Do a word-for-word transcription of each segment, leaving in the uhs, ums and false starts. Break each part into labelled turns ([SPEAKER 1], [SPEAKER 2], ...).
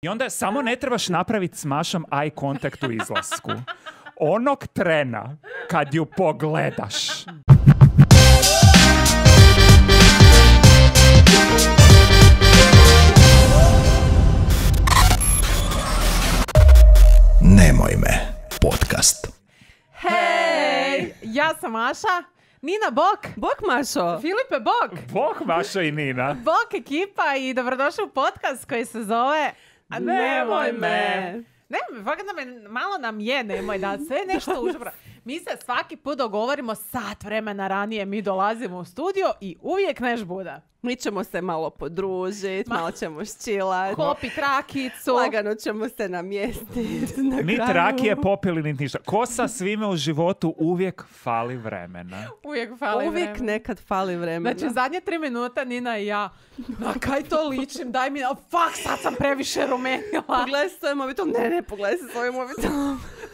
[SPEAKER 1] I onda samo ne trebaš napraviti s Mašom eye contact u izlasku. Onog trena kad ju pogledaš.
[SPEAKER 2] Nemoj me, podcast.
[SPEAKER 3] Hej, ja sam Maša. Nina, bok.
[SPEAKER 4] Bok, Mašo.
[SPEAKER 3] Filipe, bok.
[SPEAKER 1] Bok, Mašo i Nina.
[SPEAKER 3] Bok ekipa i dobrodošli u podcast koji se zove A Nemoj me. Ne, fakat nam je, malo nam je nemoj da sve nešto užbra. Mi se svaki put dogovorimo sat vremena ranije, mi dolazimo u studio i uvijek neš buda.
[SPEAKER 4] Mi ćemo se malo podružiti, Ma... malo ćemo ščilati.
[SPEAKER 3] Popit rakicu.
[SPEAKER 4] Lagano ćemo se namjestiti.
[SPEAKER 1] Ni rakije popili, ni ništa. Ko sa svime u životu uvijek fali vremena.
[SPEAKER 3] Uvijek fali
[SPEAKER 4] uvijek
[SPEAKER 3] vremena.
[SPEAKER 4] nekad fali vremena.
[SPEAKER 3] Znači, zadnje tri minuta Nina i ja, na kaj to ličim, daj mi, oh, fuck, sad sam previše rumenila.
[SPEAKER 4] Pogledaj se svoj mobitel. Ne, ne, pogledaj se svoj mobitel.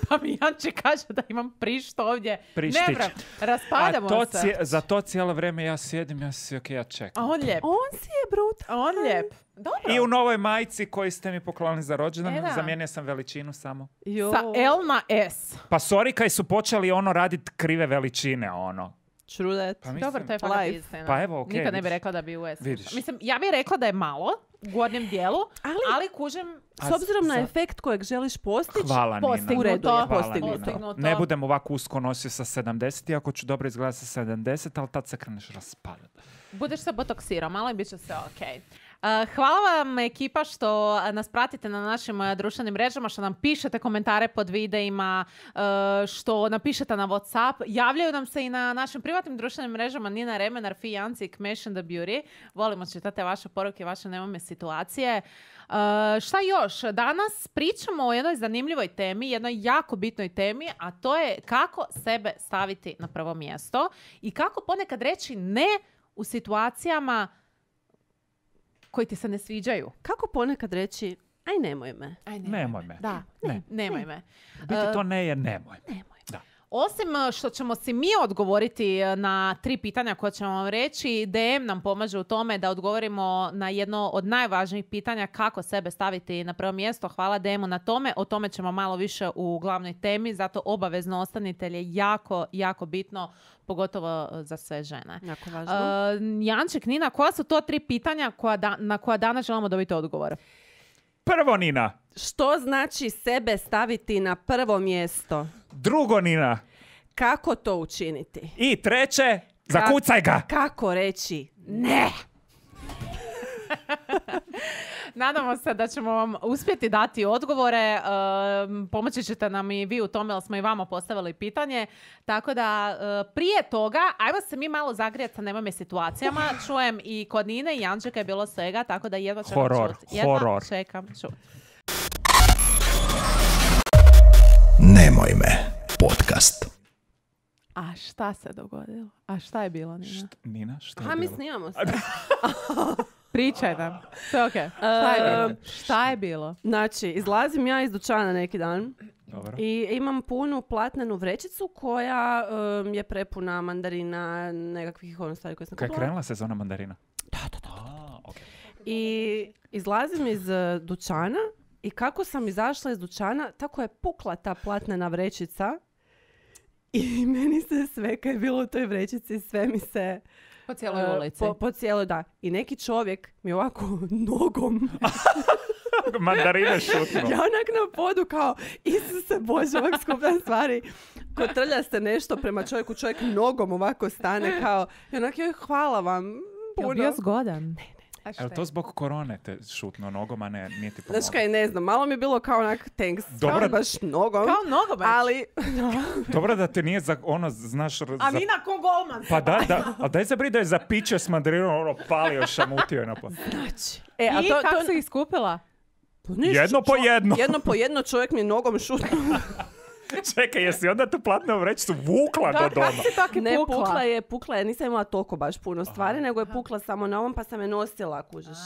[SPEAKER 3] Pa mi Janče kaže da imam prišt ovdje.
[SPEAKER 1] Prištić.
[SPEAKER 3] Ne, bro, raspadamo
[SPEAKER 1] A to
[SPEAKER 3] se.
[SPEAKER 1] Cije, za to cijelo vrijeme ja sjedim, ja si, ok, ja čekam.
[SPEAKER 3] A on lijep.
[SPEAKER 4] On si je brut.
[SPEAKER 3] A on lijep. Dobro.
[SPEAKER 1] I u novoj majici koju ste mi poklonili za rođendan,
[SPEAKER 3] E, da.
[SPEAKER 1] zamijenio sam veličinu samo.
[SPEAKER 4] Jo.
[SPEAKER 3] Sa L na S.
[SPEAKER 1] Pa sorry kaj su počeli ono raditi krive veličine, ono.
[SPEAKER 4] True that.
[SPEAKER 1] Pa mislim,
[SPEAKER 3] Dobro, to je fakat
[SPEAKER 4] life.
[SPEAKER 3] istina.
[SPEAKER 1] Pa evo, okej,
[SPEAKER 3] Nikad ne bi
[SPEAKER 1] vidiš.
[SPEAKER 3] rekla da bi u S.
[SPEAKER 1] Vidiš.
[SPEAKER 3] Mislim, ja bih rekla da je malo u gornjem dijelu, ali,
[SPEAKER 4] Ali-
[SPEAKER 3] ali kužem
[SPEAKER 4] S obzirom na
[SPEAKER 1] za-
[SPEAKER 4] efekt kojeg želiš postići,
[SPEAKER 1] Hvala, Nina.
[SPEAKER 3] postignuto.
[SPEAKER 4] u redu je,
[SPEAKER 1] Hvala,
[SPEAKER 4] postignuto.
[SPEAKER 1] Nina.
[SPEAKER 3] Postignuto.
[SPEAKER 1] Ne budem ovako usko nosio sa sedamdeset, iako ću dobro izgledati sa sedamdeset, ali tad se kreneš raspadati.
[SPEAKER 3] budeš se botoksirao malo i bit će sve ok. Uh, hvala vam ekipa što nas pratite na našim uh, društvenim mrežama, što nam pišete komentare pod videima, uh, što napišete na WhatsApp. Javljaju nam se i na našim privatnim društvenim mrežama Nina Remenar, Fi Janci, Kmesh and the Beauty. Volimo čitati vaše poruke, vaše nemome situacije. Uh, šta još? Danas pričamo o jednoj zanimljivoj temi, jednoj jako bitnoj temi, a to je kako sebe staviti na prvo mjesto i kako ponekad reći ne u situacijama koji ti se ne sviđaju.
[SPEAKER 4] kako ponekad reći, aj nemoj me.
[SPEAKER 3] Aj,
[SPEAKER 1] Nemoj me.
[SPEAKER 3] Da,
[SPEAKER 1] Ne.
[SPEAKER 3] nemoj me.
[SPEAKER 1] Biti to ne je nemoj.
[SPEAKER 4] Nemoj.
[SPEAKER 1] Da.
[SPEAKER 3] Osim uh, što ćemo si mi odgovoriti uh, na tri pitanja koje ćemo vam reći, D M nam pomaže u tome da odgovorimo na jedno od najvažnijih pitanja kako sebe staviti na prvo mjesto. Hvala D M-u na tome. O tome ćemo malo više u glavnoj temi, zato obavezno ostanite jer je jako, jako bitno, pogotovo uh, za sve žene.
[SPEAKER 4] Jako važno.
[SPEAKER 3] Uh, Janček, Nina, koja su to tri pitanja koja da, na koja danas želimo dobiti odgovor?
[SPEAKER 1] Prvo, Nina.
[SPEAKER 4] Što znači sebe staviti na prvo mjesto?
[SPEAKER 1] Drugo, Nina.
[SPEAKER 4] Kako to učiniti?
[SPEAKER 1] I treće, zakucaj ga.
[SPEAKER 4] Kako reći ne?
[SPEAKER 3] Nadamo se da ćemo vam uspjeti dati odgovore. Um, pomoći ćete nam i vi u tome, jer smo i vama postavili pitanje. Tako da uh, prije toga, ajmo se mi malo zagrijati sa nemojme situacijama. Čujem i kod Nine i Jančeka je bilo svega, tako da jedva čekam
[SPEAKER 1] Horor,
[SPEAKER 3] čuti. Jedva
[SPEAKER 1] horor.
[SPEAKER 3] čekam čuti.
[SPEAKER 2] Nemoj me, podcast.
[SPEAKER 3] A šta se dogodilo? A šta je bilo, Nina?
[SPEAKER 1] Št- Nina, što je
[SPEAKER 4] A mi
[SPEAKER 1] bilo?
[SPEAKER 4] snimamo se.
[SPEAKER 3] Pričaj nam. Sve okej. Šta je bilo? Šta je bilo?
[SPEAKER 4] Znači, izlazim ja iz dućana neki dan
[SPEAKER 1] Dobro.
[SPEAKER 4] i imam punu platnenu vrećicu koja um, je prepuna mandarina, nekakvih ono stvari koje sam
[SPEAKER 1] Kaj je
[SPEAKER 4] kupila.
[SPEAKER 1] krenula sezona mandarina?
[SPEAKER 4] Da, da, da.
[SPEAKER 1] A, okej.
[SPEAKER 4] I izlazim iz uh, dućana i kako sam izašla iz dućana, tako je pukla ta platnena vrećica i meni se sve kaj je bilo u toj vrećici, sve mi se...
[SPEAKER 3] Po cijeloj
[SPEAKER 4] uh,
[SPEAKER 3] ulici.
[SPEAKER 4] Po, po cijeloj, da. I neki čovjek mi ovako nogom,
[SPEAKER 1] Mandarine šutno.
[SPEAKER 4] ja onak na podu kao, Isuse Bože, ovak skupna stvari. Kotrlja se nešto prema čovjeku, čovjek nogom ovako stane kao, i onak, joj, hvala vam,
[SPEAKER 3] Jel
[SPEAKER 4] puno.
[SPEAKER 3] bio zgodan? Ne, ne.
[SPEAKER 1] Je li to zbog korone te šutno nogom, a ne, nije ti
[SPEAKER 4] Znaš
[SPEAKER 1] pomoglo?
[SPEAKER 4] kaj, ne znam, malo mi je bilo kao onak, thanks,
[SPEAKER 1] Dobro.
[SPEAKER 4] kao baš nogom.
[SPEAKER 3] Kao nogomet.
[SPEAKER 4] Ali,
[SPEAKER 1] Dobro da te nije za, ono, znaš...
[SPEAKER 3] A
[SPEAKER 1] za...
[SPEAKER 3] Nina ko golman.
[SPEAKER 1] Pa da, da, ali daj zabri da je za piće s mandarinom, ono, palio, šamutio je na po...
[SPEAKER 4] znači, e, a
[SPEAKER 3] I
[SPEAKER 4] to,
[SPEAKER 3] kako
[SPEAKER 4] to,
[SPEAKER 3] si ih skupila?
[SPEAKER 4] Pa ništa,
[SPEAKER 1] Jedno po
[SPEAKER 4] čo-
[SPEAKER 1] jedno.
[SPEAKER 4] Jedno po jedno čovjek mi je nogom šutnuo.
[SPEAKER 1] Čekaj, jesi onda tu platnu vrećicu vukla do doma?
[SPEAKER 3] Kako si tako
[SPEAKER 4] Ne,
[SPEAKER 3] pukla?
[SPEAKER 4] pukla je, pukla je, nisam imala toliko baš puno stvari, nego je pukla samo na ovom pa sam je nosila, kužiš.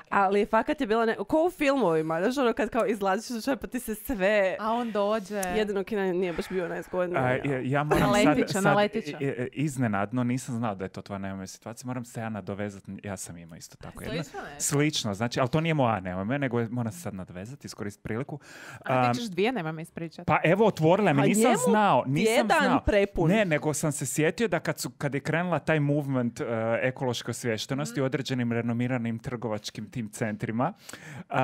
[SPEAKER 4] Ali fakat je bila, ne, ko u filmovima, znaš ono kad kao izlaziš iz dućana pa ti se sve...
[SPEAKER 3] A on dođe.
[SPEAKER 4] Jedino kina nije baš bio najzgodniji.
[SPEAKER 1] A, ja, ja moram
[SPEAKER 3] Naletića,
[SPEAKER 1] sad, sad
[SPEAKER 3] naletića.
[SPEAKER 1] i- i- iznenadno, nisam znao da je to tvoja nemoj situacija, moram se ja nadovezati, ja sam imao isto tako jedno.
[SPEAKER 3] Slično nešto.
[SPEAKER 1] Slično, znači, ali to nije moja nemoj, nego je, moram se sad nadovezati, iskoristiti priliku.
[SPEAKER 3] A
[SPEAKER 1] Um,
[SPEAKER 3] ti ćeš dvije, nema mi ispričati.
[SPEAKER 1] Pa evo, otvorila me,
[SPEAKER 4] A
[SPEAKER 1] nisam
[SPEAKER 4] njemu
[SPEAKER 1] znao, nisam
[SPEAKER 4] tjedan
[SPEAKER 1] znao.
[SPEAKER 4] prepun.
[SPEAKER 1] Ne, nego sam se sjetio da kad, su, kad je krenula taj movement uh, ekološke osviještenosti u određenim renomiranim trgovačkim tim centrima uh,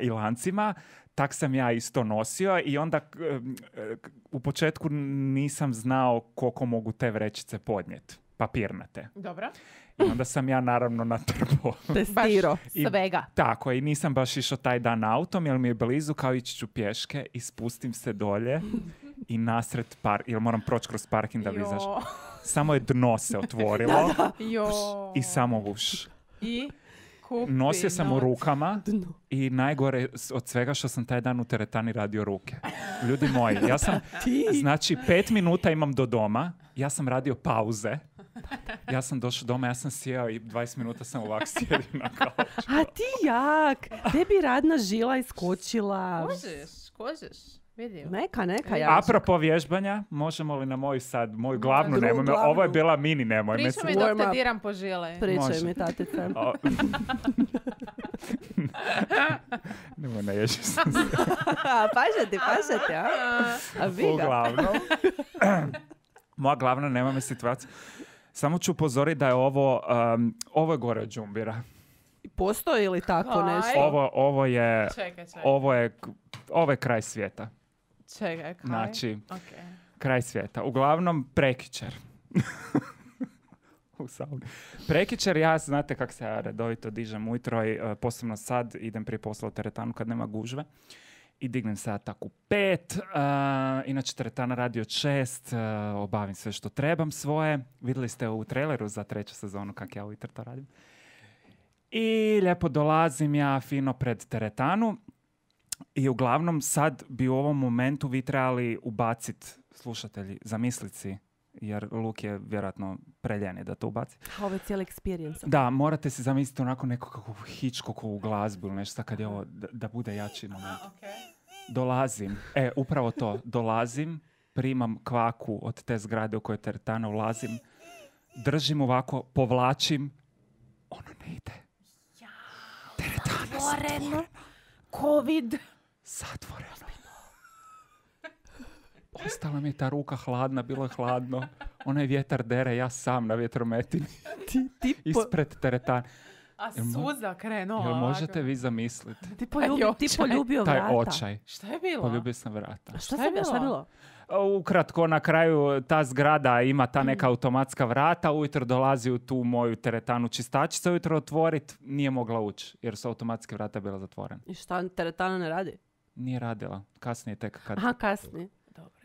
[SPEAKER 1] i lancima, tak sam ja isto nosio i onda uh, uh, u početku nisam znao koliko mogu te vrećice podnijeti, papirnate.
[SPEAKER 3] Dobro.
[SPEAKER 1] I onda sam ja naravno natrpao.
[SPEAKER 4] Testiro.
[SPEAKER 1] I-
[SPEAKER 3] Svega.
[SPEAKER 1] Tako, i nisam baš išao taj dan autom, jer mi je blizu, kao ići ću pješke i spustim se dolje i nasred par, jer moram proći kroz parking da bi
[SPEAKER 3] Jo.
[SPEAKER 1] izašao. Samo je dno se otvorilo
[SPEAKER 3] Jo.
[SPEAKER 1] i samo uš.
[SPEAKER 3] I kupi
[SPEAKER 1] Nosio sam u
[SPEAKER 3] novac.
[SPEAKER 1] rukama
[SPEAKER 4] Dno.
[SPEAKER 1] i najgore s- od svega što sam taj dan u teretani radio ruke. Ljudi moji, ja sam, znači pet minuta imam do doma, ja sam radio pauze. Ja sam došao doma, ja sam sjeo i dvadeset minuta sam ovak sjedio na kauču.
[SPEAKER 4] A ti jak, tebi radna žila iskočila.
[SPEAKER 3] Kožiš, kožiš. Vidio.
[SPEAKER 4] Neka, neka, jak.
[SPEAKER 1] Apropo vježbanja, možemo li na moju sad, moju glavnu
[SPEAKER 4] drugu
[SPEAKER 1] nemoj me,
[SPEAKER 4] glavnu.
[SPEAKER 1] ovo je bila mini nemoj me.
[SPEAKER 3] Priča mi
[SPEAKER 4] Warm
[SPEAKER 3] dok te
[SPEAKER 4] up.
[SPEAKER 3] diram po žile.
[SPEAKER 4] Pričaj
[SPEAKER 1] Može.
[SPEAKER 4] mi, tatice.
[SPEAKER 1] O- Nemoj, naježi sam se.
[SPEAKER 4] A, paže ti, paže ti, a? A vi ga.
[SPEAKER 1] Uglavnom. Moja glavna nemoj me situacija. Samo ću upozoriti da je ovo, um, ovo je gore od džumbira.
[SPEAKER 4] Postoji li tako
[SPEAKER 3] Aj.
[SPEAKER 4] nešto?
[SPEAKER 1] Ovo, ovo je,
[SPEAKER 3] Čekaj, čekaj.
[SPEAKER 1] ovo je, ovo je kraj svijeta.
[SPEAKER 3] Čekaj, kaj?
[SPEAKER 1] Znači,
[SPEAKER 3] Okej.
[SPEAKER 1] kraj svijeta. Uglavnom, prekičer. U sauni. Prekičer, ja, znate kako se ja redovito dižem ujutro i e, posebno sad idem prije posla u teretanu kad nema gužve. I dignem se ja tako u pet. e, inače, teretana radi od šest. e, obavim sve što trebam svoje. Vidjeli ste u traileru za treću sezonu kako ja ujutro to radim. I lijepo dolazim ja fino pred teretanu. I uglavnom sad bi u ovom momentu vi trebali ubaciti, slušatelji, zamisliti si, jer Luk je vjerojatno preljen je da to ubaci.
[SPEAKER 4] Ovo je cijeli experience.
[SPEAKER 1] Da, morate si zamisliti onako neku kakvu Hitchcockovu glazbu ili nešto kad je ovo, da, da bude jači moment. Dolazim, e, upravo to, dolazim, primam kvaku od te zgrade u kojoj je teretana, ulazim, držim ovako, povlačim, ono ne ide. Teretana zatvorena.
[SPEAKER 3] Covid.
[SPEAKER 1] Zatvoreno. Ostala mi je ta ruka hladna, bilo je hladno. Onaj vjetar dere, ja sam na vjetrometini.
[SPEAKER 4] Ti, ti, po,
[SPEAKER 1] Ispred teretana.
[SPEAKER 3] A
[SPEAKER 1] Jel mo-
[SPEAKER 3] suza krenula.
[SPEAKER 1] Jel možete vi zamisliti?
[SPEAKER 4] ti, poljubi, ti
[SPEAKER 3] očaj.
[SPEAKER 4] poljubio
[SPEAKER 1] Taj
[SPEAKER 4] vrata.
[SPEAKER 1] očaj.
[SPEAKER 3] Šta je bilo?
[SPEAKER 1] Poljubio sam vrata.
[SPEAKER 4] Šta,
[SPEAKER 3] Šta je
[SPEAKER 4] se, šta je
[SPEAKER 3] bilo?
[SPEAKER 4] bilo?
[SPEAKER 1] Ukratko, na kraju ta zgrada ima ta neka automatska vrata, ujutro dolazi u tu moju teretanu čistačica, ujutro otvorit, nije mogla ući, jer su automatske vrata bila zatvorene.
[SPEAKER 4] I šta, teretana ne radi?
[SPEAKER 1] Nije radila, kasnije tek kad...
[SPEAKER 4] Aha, kasnije.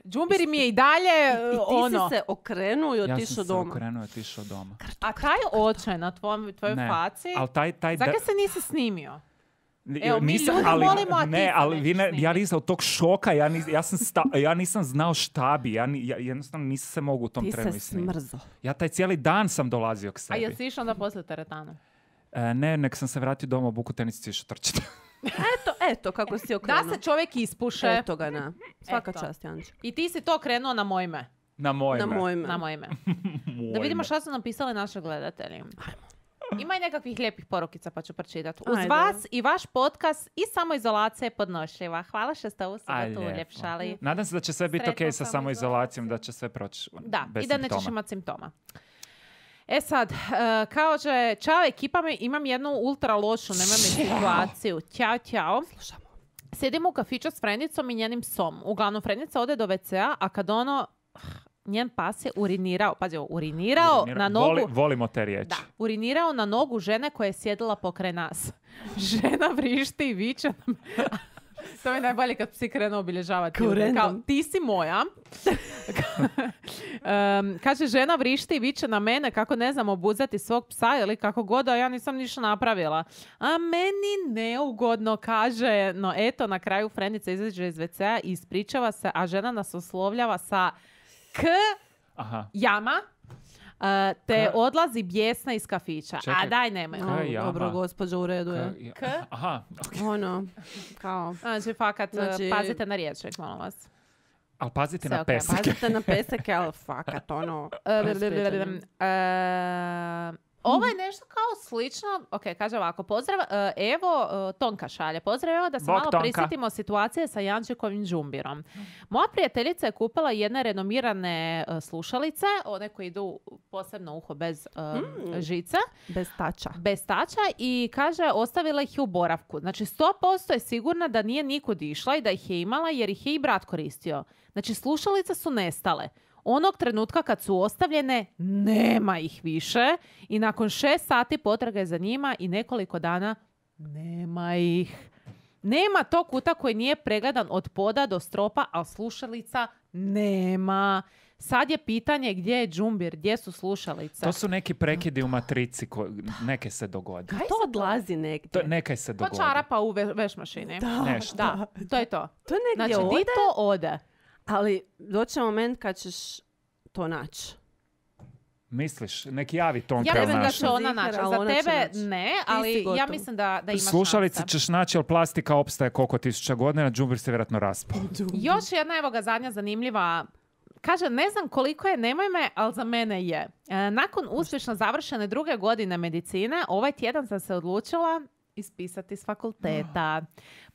[SPEAKER 3] Džumbiri mi je i dalje
[SPEAKER 4] I ti
[SPEAKER 3] ono.
[SPEAKER 4] si se okrenuo i
[SPEAKER 1] Ja
[SPEAKER 4] otišao
[SPEAKER 1] sam se
[SPEAKER 4] doma.
[SPEAKER 1] okrenuo i otišao doma.
[SPEAKER 3] A taj očaj na tvom, tvojoj
[SPEAKER 1] Ne,
[SPEAKER 3] faci,
[SPEAKER 1] ali taj... taj
[SPEAKER 3] zakaj
[SPEAKER 1] da-
[SPEAKER 3] se nisi snimio?
[SPEAKER 1] N-
[SPEAKER 3] Evo, mi
[SPEAKER 1] nisam-
[SPEAKER 3] ljudi
[SPEAKER 1] ali,
[SPEAKER 3] volimo, a ti
[SPEAKER 1] ne,
[SPEAKER 3] se
[SPEAKER 1] ali vi
[SPEAKER 3] nećeš
[SPEAKER 1] ne, ja
[SPEAKER 3] snimiti.
[SPEAKER 1] nisam od tog šoka, ja, nis, ja, sam sta, ja nisam znao šta bi, ja, ni- ja jednostavno nisam se mogu u tom
[SPEAKER 4] Ti
[SPEAKER 1] trenu
[SPEAKER 4] se
[SPEAKER 1] i snimiti.
[SPEAKER 4] smrzo.
[SPEAKER 1] Ja taj cijeli dan sam dolazio k
[SPEAKER 3] A
[SPEAKER 1] sebi.
[SPEAKER 3] jesi išao onda poslije teretanu?
[SPEAKER 1] E, ne, nek sam se vratio doma, buku tenisici išao trčiti.
[SPEAKER 4] Eto, eto kako si
[SPEAKER 3] Da
[SPEAKER 4] okrenuo.
[SPEAKER 3] se čovjek ispuše
[SPEAKER 4] Eto ga, na. Svaka
[SPEAKER 3] Eto.
[SPEAKER 4] čast, Janče.
[SPEAKER 3] i ti si to krenuo na moje ime.
[SPEAKER 1] Na moje
[SPEAKER 4] Na
[SPEAKER 1] ime.
[SPEAKER 4] moj ime.
[SPEAKER 3] Na moje ime.
[SPEAKER 1] Moje
[SPEAKER 3] Da vidimo
[SPEAKER 1] ime.
[SPEAKER 3] šta su napisali naši gledatelji. Ima i nekakvih lijepih porukica pa ću pročitati. Uz
[SPEAKER 4] Ajde.
[SPEAKER 3] vas i vaš podcast i samoizolacija je podnošljiva. Hvala što ste ovu
[SPEAKER 1] Aj,
[SPEAKER 3] subotu
[SPEAKER 1] lijepo.
[SPEAKER 3] uljepšali.
[SPEAKER 1] Nadam se da će sve biti
[SPEAKER 3] Sretna
[SPEAKER 1] ok sa samoizolacijom,
[SPEAKER 3] samoizolacija.
[SPEAKER 1] da će sve proći
[SPEAKER 3] Da,
[SPEAKER 1] bez
[SPEAKER 3] i da
[SPEAKER 1] simptoma.
[SPEAKER 3] nećeš imati simptoma. E sad, uh, kao že, čao ekipa, mi imam jednu ultra lošu, nemam situaciju. Ćao, ćao.
[SPEAKER 4] Slušamo.
[SPEAKER 3] Sjedimo u kafiću s Frendicom i njenim psom. Uglavnom, Frendica ode do ve ce a, a kad ono, njen pas je urinirao, pazi ovo, urinirao
[SPEAKER 1] Urinira-
[SPEAKER 3] na nogu...
[SPEAKER 1] Voli- volimo te riječi.
[SPEAKER 3] Da, urinirao na nogu žene koja je sjedila pokraj nas. Žena vrišti i viče nam, To mi je najbolje kad psi krenu obilježavati.
[SPEAKER 4] Kao
[SPEAKER 3] ljude. Kao,
[SPEAKER 4] random.
[SPEAKER 3] ti si moja. um, kaže, žena vrišti i viče na mene kako ne znam obuzeti svog psa ili kako god, a ja nisam ništa napravila. A meni neugodno, kaže. No eto, na kraju frendica izađe iz ve cea i ispričava se, a žena nas oslovljava sa k
[SPEAKER 1] Aha.
[SPEAKER 3] jama. Uh, te
[SPEAKER 1] Ka-
[SPEAKER 3] odlazi bijesna iz kafića.
[SPEAKER 1] Čekaj.
[SPEAKER 3] A daj, nemoj.
[SPEAKER 1] Ka-
[SPEAKER 4] O,
[SPEAKER 1] jama.
[SPEAKER 4] dobro, gospođo, u redu je.
[SPEAKER 1] Ka-
[SPEAKER 3] K?
[SPEAKER 1] Aha, ok.
[SPEAKER 4] Ono, kao...
[SPEAKER 3] Znači, fakat, uh,
[SPEAKER 4] Znači-
[SPEAKER 3] pazite na riječnik, molim vas.
[SPEAKER 1] Ali pazite
[SPEAKER 3] Sve
[SPEAKER 1] na
[SPEAKER 3] okej,
[SPEAKER 1] peseke.
[SPEAKER 4] Pazite na peseke, ali fakat, ono...
[SPEAKER 3] E, ovo je nešto kao slično. Ok, kaže ovako. Pozdrav, e, evo, e, Tonka šalje. Pozdrav, evo da se
[SPEAKER 1] Bog,
[SPEAKER 3] malo
[SPEAKER 1] Tonka.
[SPEAKER 3] prisjetimo situacije sa Jančikovim džumbirom. Moja prijateljica je kupila jedne renomirane e, slušalice, one koje idu posebno u uho bez e, žice,
[SPEAKER 4] Bez tača.
[SPEAKER 3] bez tača, i kaže ostavila ih je u boravku. Znači sto posto je sigurna da nije nikud išla i da ih je imala jer ih je i brat koristio. Znači slušalice su nestale. Onog trenutka kad su ostavljene, nema ih više i nakon šest sati potrage za njima i nekoliko dana nema ih. Nema tog kuta koji nije pregledan od poda do stropa, a slušalica nema. Sad je pitanje gdje je džumbir, gdje su slušalice.
[SPEAKER 1] To su neki prekidi u matrici, ko, neke se dogodi.
[SPEAKER 4] Kaj to odlazi negdje?
[SPEAKER 1] To, nekaj se
[SPEAKER 3] To
[SPEAKER 1] dogodi.
[SPEAKER 3] čarapa u ve- veš mašini.
[SPEAKER 4] Da,
[SPEAKER 1] Nešto.
[SPEAKER 3] Da, to je to.
[SPEAKER 4] To negdje
[SPEAKER 3] Znači,
[SPEAKER 4] ode,
[SPEAKER 3] di to ode?
[SPEAKER 4] ali doće moment kad ćeš to naći.
[SPEAKER 1] Misliš, neki javi Tonka
[SPEAKER 3] Ja
[SPEAKER 1] jel
[SPEAKER 3] mislim da
[SPEAKER 1] naši?
[SPEAKER 3] će ona
[SPEAKER 4] Zihar,
[SPEAKER 3] naći.
[SPEAKER 4] ali
[SPEAKER 3] Za
[SPEAKER 4] ona će
[SPEAKER 3] tebe
[SPEAKER 4] naći.
[SPEAKER 3] ne,
[SPEAKER 4] si
[SPEAKER 3] ali ja
[SPEAKER 4] gotov.
[SPEAKER 3] mislim da, da ima
[SPEAKER 1] Slušalice
[SPEAKER 3] šanse.
[SPEAKER 1] ćeš naći, ali plastika opstaje koliko tisuća godina, džumbir se vjerojatno raspao.
[SPEAKER 3] Još jedna, evo ga, zadnja zanimljiva. Kaže, ne znam koliko je, nemoj me, ali za mene je. E, nakon uspješno završene druge godine medicine, ovaj tjedan sam se odlučila ispisati s fakulteta.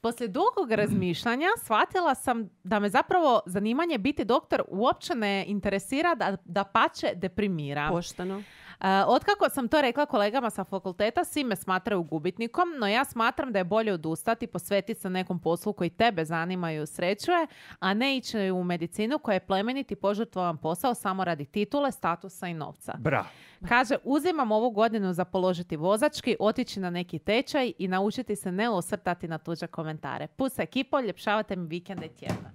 [SPEAKER 3] Poslije dugog razmišljanja shvatila sam da me zapravo zanimanje biti doktor uopće ne interesira, da, da pače deprimira.
[SPEAKER 4] Pošteno.
[SPEAKER 3] Uh, otkako sam to rekla kolegama sa fakulteta, svi me smatraju gubitnikom, no ja smatram da je bolje odustati, posvetiti se nekom poslu koji tebe zanima i usrećuje, a ne ići u medicinu koja je plemenit i požrtvovan posao samo radi titule, statusa i novca.
[SPEAKER 1] Bra.
[SPEAKER 3] Kaže, uzimam ovu godinu za položiti vozački, otići na neki tečaj i naučiti se ne osvrtati na tuđe komentare. Pus ekipo, ljepšavate mi vikende i tjedna.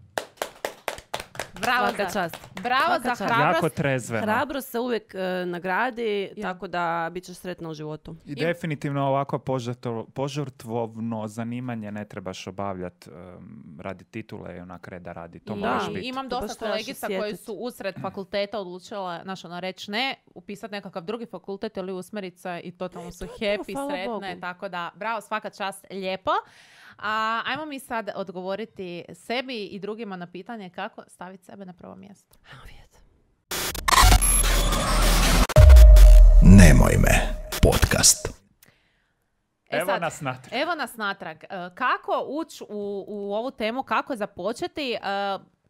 [SPEAKER 3] Bravo
[SPEAKER 4] Svaka
[SPEAKER 3] za,
[SPEAKER 4] čast.
[SPEAKER 3] bravo
[SPEAKER 4] Svaka
[SPEAKER 3] za
[SPEAKER 4] čast.
[SPEAKER 3] hrabrost.
[SPEAKER 1] Jako trezveno.
[SPEAKER 4] Hrabro se uvijek e, nagradi,
[SPEAKER 3] Ja.
[SPEAKER 4] tako da bit ćeš sretna u životu.
[SPEAKER 1] I definitivno ovako požrtvo- požrtvovno zanimanje ne trebaš obavljati um, radi titule i onak reda radi. To
[SPEAKER 3] I
[SPEAKER 1] moraš biti.
[SPEAKER 3] imam
[SPEAKER 4] To
[SPEAKER 3] dosta
[SPEAKER 4] baš trebaš
[SPEAKER 3] kolegica koje
[SPEAKER 4] osjetit.
[SPEAKER 3] su usred fakulteta odlučile, znaš, ono, reći ne, upisati nekakav drugi fakultet ili usmjerit se i totalno su
[SPEAKER 4] to,
[SPEAKER 3] happy,
[SPEAKER 4] hvala
[SPEAKER 3] sretne,
[SPEAKER 4] Bogu.
[SPEAKER 3] tako da, bravo, svaka čast, lijepo. A ajmo mi sad odgovoriti sebi i drugima na pitanje kako staviti sebe na prvo mjesto.
[SPEAKER 4] Ajmo vidjeti.
[SPEAKER 2] Nemoj me podcast.
[SPEAKER 3] E
[SPEAKER 1] Evo
[SPEAKER 3] sad,
[SPEAKER 1] nas natrag.
[SPEAKER 3] Evo nas natrag. E, Kako ući u, u ovu temu, kako započeti? E,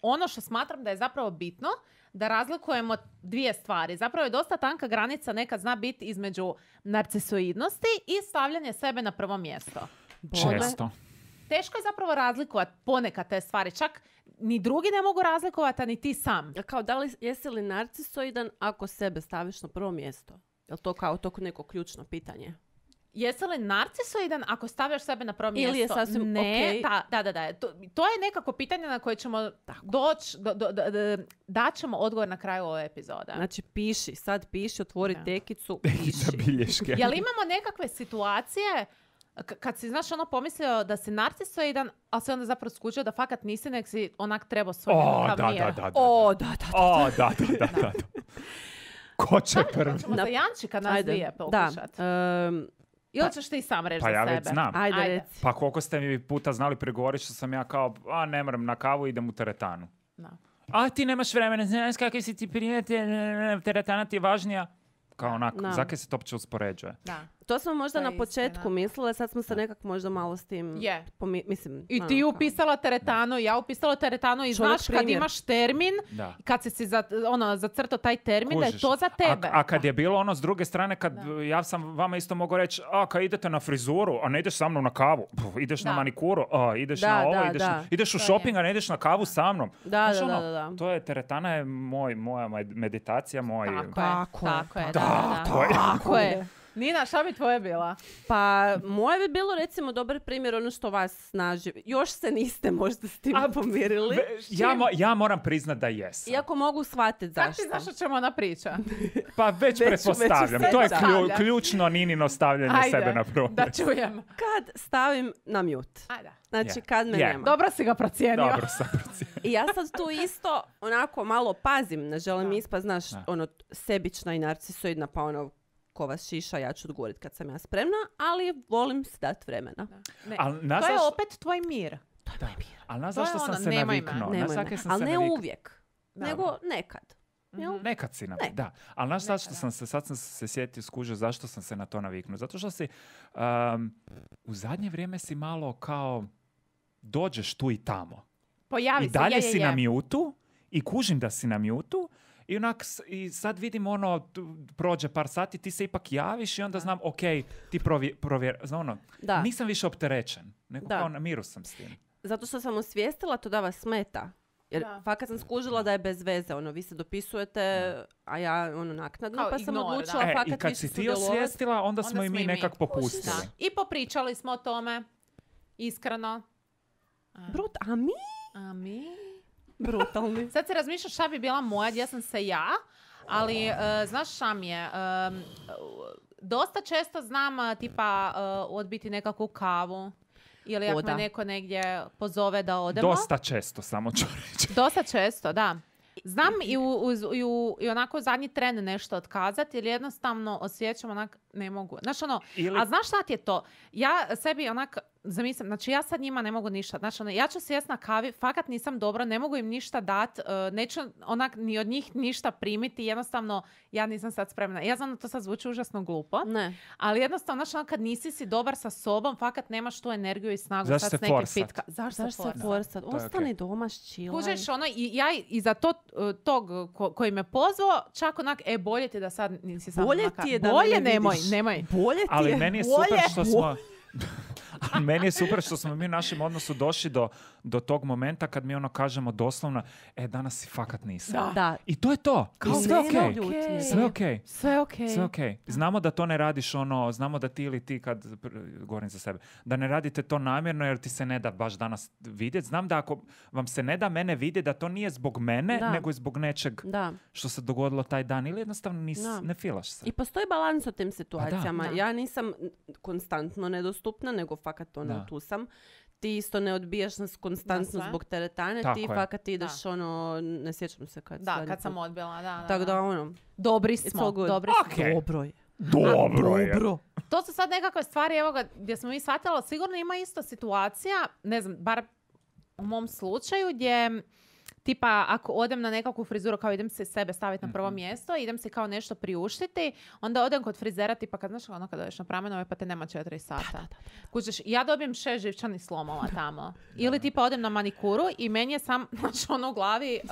[SPEAKER 3] Ono što smatram da je zapravo bitno, da razlikujemo dvije stvari. Zapravo je dosta tanka granica nekad zna biti između narcisoidnosti i stavljanje sebe na prvo mjesto.
[SPEAKER 1] Često.
[SPEAKER 3] Teško je zapravo razlikovati ponekad te stvari. Čak ni drugi ne mogu razlikovati, a ni ti sam.
[SPEAKER 4] Kao, da li, jesi li narcisoidan ako sebe staviš na prvo mjesto? Je li to kao to neko ključno pitanje?
[SPEAKER 3] Jesi li narcisoidan ako stavljaš sebe na prvo mjesto?
[SPEAKER 4] Ili je sasvim
[SPEAKER 3] ne,
[SPEAKER 4] okej?
[SPEAKER 3] da, da, da, da. To, to je nekako pitanje na koje ćemo doći, do, do, do, do, daćemo odgovor na kraju ove epizode.
[SPEAKER 4] Znači, piši, sad piši, otvori
[SPEAKER 3] Da.
[SPEAKER 4] tekicu,
[SPEAKER 1] Za
[SPEAKER 4] piši.
[SPEAKER 1] bilješke.
[SPEAKER 3] Jel imamo nekakve situacije k- kad si, znaš, ono pomislio da si narcisoidan, ali si onda zapravo skučio da fakat nisi, nek si onak trebao svoj
[SPEAKER 1] O,
[SPEAKER 3] nekakav
[SPEAKER 1] da,
[SPEAKER 3] mir.
[SPEAKER 1] da, da, da.
[SPEAKER 4] O, da, da, da.
[SPEAKER 1] O, da, da, da, da. Ko će prvi?
[SPEAKER 3] Hoćemo za
[SPEAKER 4] Na-
[SPEAKER 3] Jančika nas
[SPEAKER 4] Ajde,
[SPEAKER 3] dvije
[SPEAKER 4] da.
[SPEAKER 3] pokušat.
[SPEAKER 4] Ehm,
[SPEAKER 3] Ili ćeš ti sam reći
[SPEAKER 1] Pa
[SPEAKER 3] za
[SPEAKER 1] ja
[SPEAKER 3] sebe?
[SPEAKER 1] već znam.
[SPEAKER 4] ajde,
[SPEAKER 3] Ajde.
[SPEAKER 4] reci.
[SPEAKER 1] Pa koliko ste mi puta znali pregovoriti što sam ja kao, a ne moram na kavu, idem u teretanu.
[SPEAKER 3] Da.
[SPEAKER 1] A ti nemaš vremena, znaš kakvi si ti prijatelj, teretana ti je važnija. Kao onako,
[SPEAKER 4] Da.
[SPEAKER 1] zakaj se to uopće uspoređuje?
[SPEAKER 3] Da.
[SPEAKER 4] To smo možda
[SPEAKER 3] To je
[SPEAKER 4] na početku
[SPEAKER 3] istina.
[SPEAKER 4] mislile, sad smo se nekako možda malo s tim...
[SPEAKER 3] Je.
[SPEAKER 4] pomi- mislim,
[SPEAKER 3] I
[SPEAKER 4] ono,
[SPEAKER 3] ti
[SPEAKER 4] kao-
[SPEAKER 3] upisala teretanu, ja upisala teretanu i
[SPEAKER 4] Čovjek
[SPEAKER 3] znaš kad
[SPEAKER 4] primjer.
[SPEAKER 3] imaš termin,
[SPEAKER 1] Da.
[SPEAKER 3] kad si si za, ono, zacrtao taj termin, da je
[SPEAKER 1] Kužiš.
[SPEAKER 3] to za tebe.
[SPEAKER 1] A, a kad je bilo ono s druge strane, kad
[SPEAKER 3] Da.
[SPEAKER 1] ja sam vama isto mogao reći, a kad idete na frizuru, a ne ideš sa mnom na kavu, Puf, ideš na
[SPEAKER 3] Da.
[SPEAKER 1] manikuru, a ideš
[SPEAKER 4] Da,
[SPEAKER 1] na ovo,
[SPEAKER 4] da,
[SPEAKER 1] ideš,
[SPEAKER 4] da.
[SPEAKER 1] ideš u
[SPEAKER 3] To je.
[SPEAKER 1] shopping, a ne ideš na kavu sa mnom.
[SPEAKER 4] Da,
[SPEAKER 1] Znaš,
[SPEAKER 4] da,
[SPEAKER 1] ono,
[SPEAKER 4] da, da, da.
[SPEAKER 1] To je, teretana je moj, moja med- meditacija, moj...
[SPEAKER 3] Tako je,
[SPEAKER 4] Tako je,
[SPEAKER 3] tako je, da,
[SPEAKER 4] tako
[SPEAKER 3] da, da.
[SPEAKER 1] je.
[SPEAKER 3] Tako je. Nina, šta bi tvoje bila?
[SPEAKER 4] Pa moje bi bilo recimo dobar primjer ono što vas snaži. Još se niste možda s tim
[SPEAKER 1] A,
[SPEAKER 4] pomirili.
[SPEAKER 1] Ve- Ja, mo- ja moram priznat da jesam.
[SPEAKER 4] Iako mogu shvatiti
[SPEAKER 3] Kako ti
[SPEAKER 4] zašto.
[SPEAKER 3] znaš o čemu ona priča?
[SPEAKER 1] Pa već,
[SPEAKER 4] Već-
[SPEAKER 1] pretpostavljam.
[SPEAKER 4] već
[SPEAKER 1] To je
[SPEAKER 3] se
[SPEAKER 1] klju-
[SPEAKER 3] stavlja.
[SPEAKER 1] ključno Ninino stavljanje
[SPEAKER 3] Ajde,
[SPEAKER 1] sebe na prvo.
[SPEAKER 3] da čujem.
[SPEAKER 4] Kad stavim na mute.
[SPEAKER 3] Ajde.
[SPEAKER 4] Znači
[SPEAKER 1] Je.
[SPEAKER 4] kad me
[SPEAKER 1] Je.
[SPEAKER 4] nema.
[SPEAKER 3] Dobro si ga procijenio.
[SPEAKER 1] Dobro sam procijenio.
[SPEAKER 4] I ja sad tu isto onako malo pazim. Ne želim
[SPEAKER 3] Da.
[SPEAKER 4] ispast, znaš,
[SPEAKER 1] Da.
[SPEAKER 4] ono sebična i narcisoidna, pa ono ko vas šiša, ja ću odgovorit kad sam ja spremna, ali volim si dat vremena.
[SPEAKER 3] Ne.
[SPEAKER 1] Al na
[SPEAKER 3] To je
[SPEAKER 1] zaš-
[SPEAKER 3] opet tvoj mir.
[SPEAKER 1] Da. Ali na
[SPEAKER 3] To je
[SPEAKER 1] zašto sam
[SPEAKER 3] ono,
[SPEAKER 1] se
[SPEAKER 3] nemoj me.
[SPEAKER 1] naviknuo? Na
[SPEAKER 4] Nemoj
[SPEAKER 1] zake
[SPEAKER 4] me.
[SPEAKER 1] sam
[SPEAKER 4] Ali
[SPEAKER 1] se
[SPEAKER 4] ne
[SPEAKER 1] naviknuo.
[SPEAKER 4] uvijek,
[SPEAKER 3] Da.
[SPEAKER 4] nego nekad. Jel?
[SPEAKER 1] Nekad si naviknuo,
[SPEAKER 4] Nekad.
[SPEAKER 1] da. Ali znaš zašto
[SPEAKER 3] Nekad,
[SPEAKER 1] sam se, sad sam se sjetio, skužio zašto sam se na to naviknuo. Zato što si um, u zadnje vrijeme si malo kao dođeš tu i tamo.
[SPEAKER 3] Pojavi
[SPEAKER 1] I
[SPEAKER 3] se,
[SPEAKER 1] dalje
[SPEAKER 3] je, je,
[SPEAKER 1] si
[SPEAKER 3] je.
[SPEAKER 1] na mjutu i kužim da si na mjutu i onak s- i sad vidim ono, tu prođe par sati, ti se ipak javiš i onda znam, ok, ti provjer, provjer znam ono,
[SPEAKER 4] Da.
[SPEAKER 1] nisam više opterećen, nego
[SPEAKER 4] Da.
[SPEAKER 1] kao na miru sam s tim.
[SPEAKER 4] Zato što sam osvijestila to da vas smeta. Jer
[SPEAKER 3] Da.
[SPEAKER 4] fakat sam skužila da je bez veze. Ono, vi se dopisujete, a ja ono naknadno,
[SPEAKER 3] Kao
[SPEAKER 4] pa sam
[SPEAKER 3] ignor,
[SPEAKER 4] odlučila
[SPEAKER 3] da.
[SPEAKER 1] E,
[SPEAKER 4] fakat
[SPEAKER 1] i kad
[SPEAKER 4] više
[SPEAKER 1] si ti
[SPEAKER 4] sudjelovat.
[SPEAKER 1] osvijestila, onda smo
[SPEAKER 3] Onda
[SPEAKER 1] i
[SPEAKER 3] smo
[SPEAKER 1] mi
[SPEAKER 3] i mi.
[SPEAKER 1] nekak popustili.
[SPEAKER 3] Da. I popričali smo o tome. Iskreno.
[SPEAKER 4] Brut, a mi?
[SPEAKER 3] A mi?
[SPEAKER 4] Brutalni.
[SPEAKER 3] Sad se razmišljaš šta bi bila moja, gdje sam se ja, ali e, znaš šta mi je, e, dosta često znam e, tipa e, odbiti nekakvu kavu ili ako
[SPEAKER 4] O, da.
[SPEAKER 3] me neko negdje pozove da odemo.
[SPEAKER 1] Dosta često, samo ću reći.
[SPEAKER 3] Dosta često, da. Znam i, u, uz- i, u, i onako u zadnji tren nešto otkazati jer jednostavno osjećam onak ne mogu. Znaš ono,
[SPEAKER 1] Ili-
[SPEAKER 3] a znaš šta ti je to? Ja sebi onak zamislim, znači ja sad njima ne mogu ništa. Znači ono, ja ću sjest na kavi, fakat nisam dobro, ne mogu im ništa dat, uh, neću onak ni od njih ništa primiti, jednostavno ja nisam sad spremna. Ja znam da to sad zvuči užasno glupo,
[SPEAKER 4] Ne.
[SPEAKER 3] ali jednostavno, znači ono, kad nisi si dobar sa sobom, fakat nemaš tu energiju i snagu
[SPEAKER 1] Zašto
[SPEAKER 3] sad
[SPEAKER 1] se
[SPEAKER 3] s nekim
[SPEAKER 1] forsat?
[SPEAKER 3] pitka. Zašto,
[SPEAKER 4] Zašto
[SPEAKER 3] se
[SPEAKER 4] se
[SPEAKER 3] forsat?
[SPEAKER 4] forsat?
[SPEAKER 1] To je
[SPEAKER 4] Ostani
[SPEAKER 1] okej.
[SPEAKER 4] doma, ščilaj.
[SPEAKER 3] Kužeš, ono, i ja i za to, uh, tog ko- koji me pozvao, čak onak, e, bolje ti da sad nisi samo
[SPEAKER 4] Bolje
[SPEAKER 3] na ka-
[SPEAKER 4] ti je da
[SPEAKER 3] Bolje
[SPEAKER 4] me ne
[SPEAKER 3] nemoj,
[SPEAKER 4] vidiš.
[SPEAKER 3] nemoj.
[SPEAKER 4] Bolje ti
[SPEAKER 1] Ali
[SPEAKER 4] je.
[SPEAKER 1] meni je
[SPEAKER 3] bolje.
[SPEAKER 1] super što smo... Ali meni je super što smo mi u našem odnosu došli do, do tog momenta kad mi ono kažemo doslovno, e, danas si fakat nisam.
[SPEAKER 3] Da.
[SPEAKER 4] Da.
[SPEAKER 1] I to je to.
[SPEAKER 3] Kao
[SPEAKER 1] I sve
[SPEAKER 3] nema
[SPEAKER 1] okej.
[SPEAKER 3] ljutnje.
[SPEAKER 1] Sve okej.
[SPEAKER 3] Sve okej.
[SPEAKER 1] Sve okej. Znamo da to ne radiš ono, znamo da ti ili ti kad, pr- govorim za sebe, da ne radite to namjerno jer ti se ne da baš danas vidjeti. Znam da ako vam se ne da mene vidjeti, da to nije zbog mene,
[SPEAKER 4] Da.
[SPEAKER 1] nego i zbog nečeg
[SPEAKER 4] Da.
[SPEAKER 1] što se dogodilo taj dan ili jednostavno nis,
[SPEAKER 4] Da.
[SPEAKER 1] ne filaš se.
[SPEAKER 4] I postoji balans u tim situacijama.
[SPEAKER 3] Da.
[SPEAKER 4] Ja nisam konstantno nedostupna, nego fakat ono,
[SPEAKER 1] Da.
[SPEAKER 4] tu sam. Ti isto ne odbijaš nas
[SPEAKER 3] Na
[SPEAKER 4] konstantno
[SPEAKER 3] sve.
[SPEAKER 4] zbog teretane,
[SPEAKER 1] Tako
[SPEAKER 4] ti
[SPEAKER 1] je.
[SPEAKER 4] fakat ideš ono, ne sjećam se kad.
[SPEAKER 3] Da,
[SPEAKER 4] zadnji
[SPEAKER 3] kad sam
[SPEAKER 4] put.
[SPEAKER 3] odbila, da, da.
[SPEAKER 4] Tako
[SPEAKER 3] da.
[SPEAKER 4] da ono,
[SPEAKER 3] Dobri
[SPEAKER 4] it's
[SPEAKER 3] smo,
[SPEAKER 4] all good.
[SPEAKER 3] dobri smo.
[SPEAKER 1] Okej.
[SPEAKER 4] Dobro je.
[SPEAKER 1] Dobro je.
[SPEAKER 4] Dobro.
[SPEAKER 3] To su sad nekakve stvari, evo ga, gdje smo mi shvatili, sigurno ima isto situacija, ne znam, bar u mom slučaju, gdje tipa ako odem na nekakvu frizuru, kao idem se sebe staviti na prvo mjesto, idem se kao nešto priuštiti, onda odem kod frizera, tipa kad znaš ono kad odeš na pramenove pa te nema četiri sata. Kužiš, ja dobijem šest živčanih slomova tamo. Ili tipa odem na manikuru i meni je sam, znači ono u glavi uh,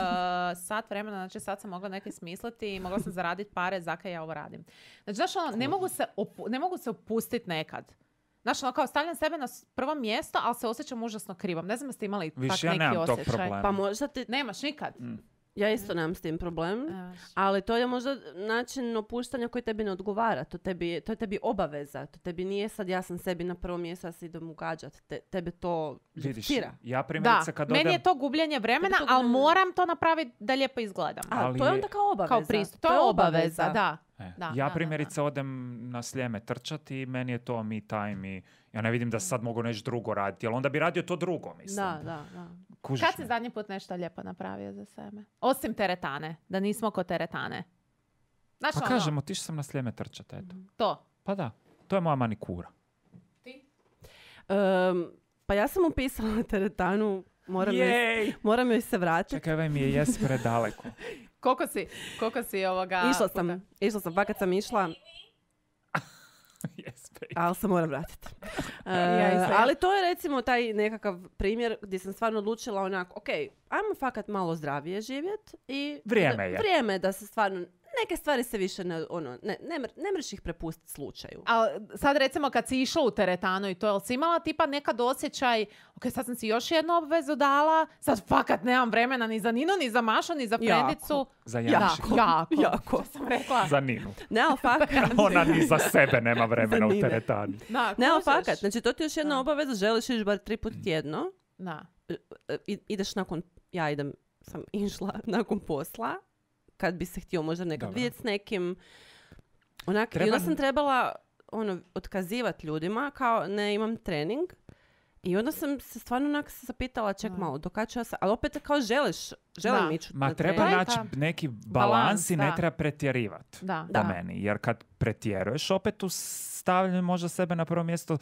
[SPEAKER 3] sat vremena, znači sad sam mogla neke smisliti i mogla sam zaraditi pare, zakaj ja ovo radim. Znači, znaš ono, ne mogu se, opu- ne mogu se opustiti nekad. Znači, ono kao stavljam sebe na s- prvo mjesto, ali se osjećam užasno krivom. Ne znam da ste imali
[SPEAKER 1] Više
[SPEAKER 3] tak
[SPEAKER 1] ja
[SPEAKER 3] neki
[SPEAKER 1] nemam tog
[SPEAKER 3] osjećaj.
[SPEAKER 1] problema.
[SPEAKER 4] Pa možda ti,
[SPEAKER 3] Nemaš nikad.
[SPEAKER 4] ja isto nemam s tim problem,
[SPEAKER 3] Evo.
[SPEAKER 4] ali to je možda način opuštanja koji tebi ne odgovara. To, tebi, to je tebi obaveza. To tebi nije sad ja sam sebi na prvo mjesto, ja se idem ugađat. Te, tebe to
[SPEAKER 1] Vidiš,
[SPEAKER 4] živcira.
[SPEAKER 1] ja
[SPEAKER 3] Da,
[SPEAKER 1] primjerice kad
[SPEAKER 3] meni
[SPEAKER 1] odem...
[SPEAKER 3] je to gubljenje vremena,
[SPEAKER 4] Tebi to
[SPEAKER 3] ali
[SPEAKER 4] gubljenje-
[SPEAKER 3] moram to napraviti da lijepo izgledam.
[SPEAKER 4] A,
[SPEAKER 1] Ali
[SPEAKER 4] to je
[SPEAKER 1] je-
[SPEAKER 4] onda kao obaveza.
[SPEAKER 3] Kao pristup. To je obaveza, da.
[SPEAKER 1] E,
[SPEAKER 3] Da,
[SPEAKER 1] ja
[SPEAKER 3] da, da,
[SPEAKER 1] primjerice odem na Sljeme trčati i meni je to me time i ja ne vidim da sad mogu nešto drugo raditi, jer onda bi radio to drugo, mislim.
[SPEAKER 4] Da, da, da.
[SPEAKER 1] Kužiš
[SPEAKER 3] Kad si
[SPEAKER 1] me?
[SPEAKER 3] zadnji put nešto lijepo napravio za sebe? Osim teretane, da nismo kod teretane. Znači,
[SPEAKER 1] Pa
[SPEAKER 3] ono,
[SPEAKER 1] kažem, otišao sam na Sljeme trčati, eto.
[SPEAKER 3] to.
[SPEAKER 1] Pa da, to je moja manikura.
[SPEAKER 4] Em, pa ja sam upisala na teretanu, moram, joj,
[SPEAKER 1] Jej!
[SPEAKER 4] moram joj se vratiti.
[SPEAKER 1] Čekaj, ovaj mi je jes predaleko.
[SPEAKER 3] Koliko si, koliko si ovoga...
[SPEAKER 4] Išla sam, išla sam, pa kad sam išla,
[SPEAKER 1] Yes, baby.
[SPEAKER 4] ali se moram vratiti. E,
[SPEAKER 3] Ja isto.
[SPEAKER 4] ali to je recimo taj nekakav primjer gdje sam stvarno odlučila onako, ok, ajmo fakat malo zdravije živjet i
[SPEAKER 1] Vrijeme
[SPEAKER 4] da-
[SPEAKER 1] je.
[SPEAKER 4] vrijeme je da se stvarno neke stvari se više ne, ono, ne, ne, mr- ne mreš ih prepustiti slučaju.
[SPEAKER 3] A sad recimo kad si išla u teretanu i to, jel si imala tipa nekad osjećaj, ok, sad sam si još jednu obvezu dala, sad fakat nemam vremena ni za Ninu, ni za Mašu, ni za Frendicu.
[SPEAKER 1] Za Janši.
[SPEAKER 3] Da, jako.
[SPEAKER 4] Jako.
[SPEAKER 3] Što sam rekla?
[SPEAKER 1] Za Ninu.
[SPEAKER 4] Ne, ali fakat.
[SPEAKER 1] Ona ni za sebe nema vremena u
[SPEAKER 4] Nine.
[SPEAKER 1] teretani.
[SPEAKER 3] Da,
[SPEAKER 4] Ne, ali
[SPEAKER 3] kužiš?
[SPEAKER 4] fakat. Znači, to ti je još jedna
[SPEAKER 3] Da.
[SPEAKER 4] obaveza, želiš ići bar tri put tjedno.
[SPEAKER 3] Da.
[SPEAKER 4] I, ideš nakon, ja idem, sam išla nakon posla, kad bi se htio možda nekad
[SPEAKER 1] Dobro.
[SPEAKER 4] vidjeti s nekim. Onak,
[SPEAKER 1] Treba-
[SPEAKER 4] I onda sam trebala ono, otkazivati ljudima, kao ne imam trening. I onda sam se stvarno onak se zapitala, ček
[SPEAKER 3] Da.
[SPEAKER 4] malo, do kad ću ja sa... Ali opet kao želiš, želim
[SPEAKER 3] Da.
[SPEAKER 4] ići
[SPEAKER 1] Ma
[SPEAKER 4] na
[SPEAKER 1] treba
[SPEAKER 4] trening.
[SPEAKER 1] naći
[SPEAKER 3] ta-
[SPEAKER 1] neki balans
[SPEAKER 3] balans,
[SPEAKER 1] i ne
[SPEAKER 3] da.
[SPEAKER 1] treba pretjerivati.
[SPEAKER 3] Da.
[SPEAKER 1] Po
[SPEAKER 4] Da.
[SPEAKER 1] meni. Jer kad pretjeruješ, opet tu stavljaju možda sebe na prvo mjesto,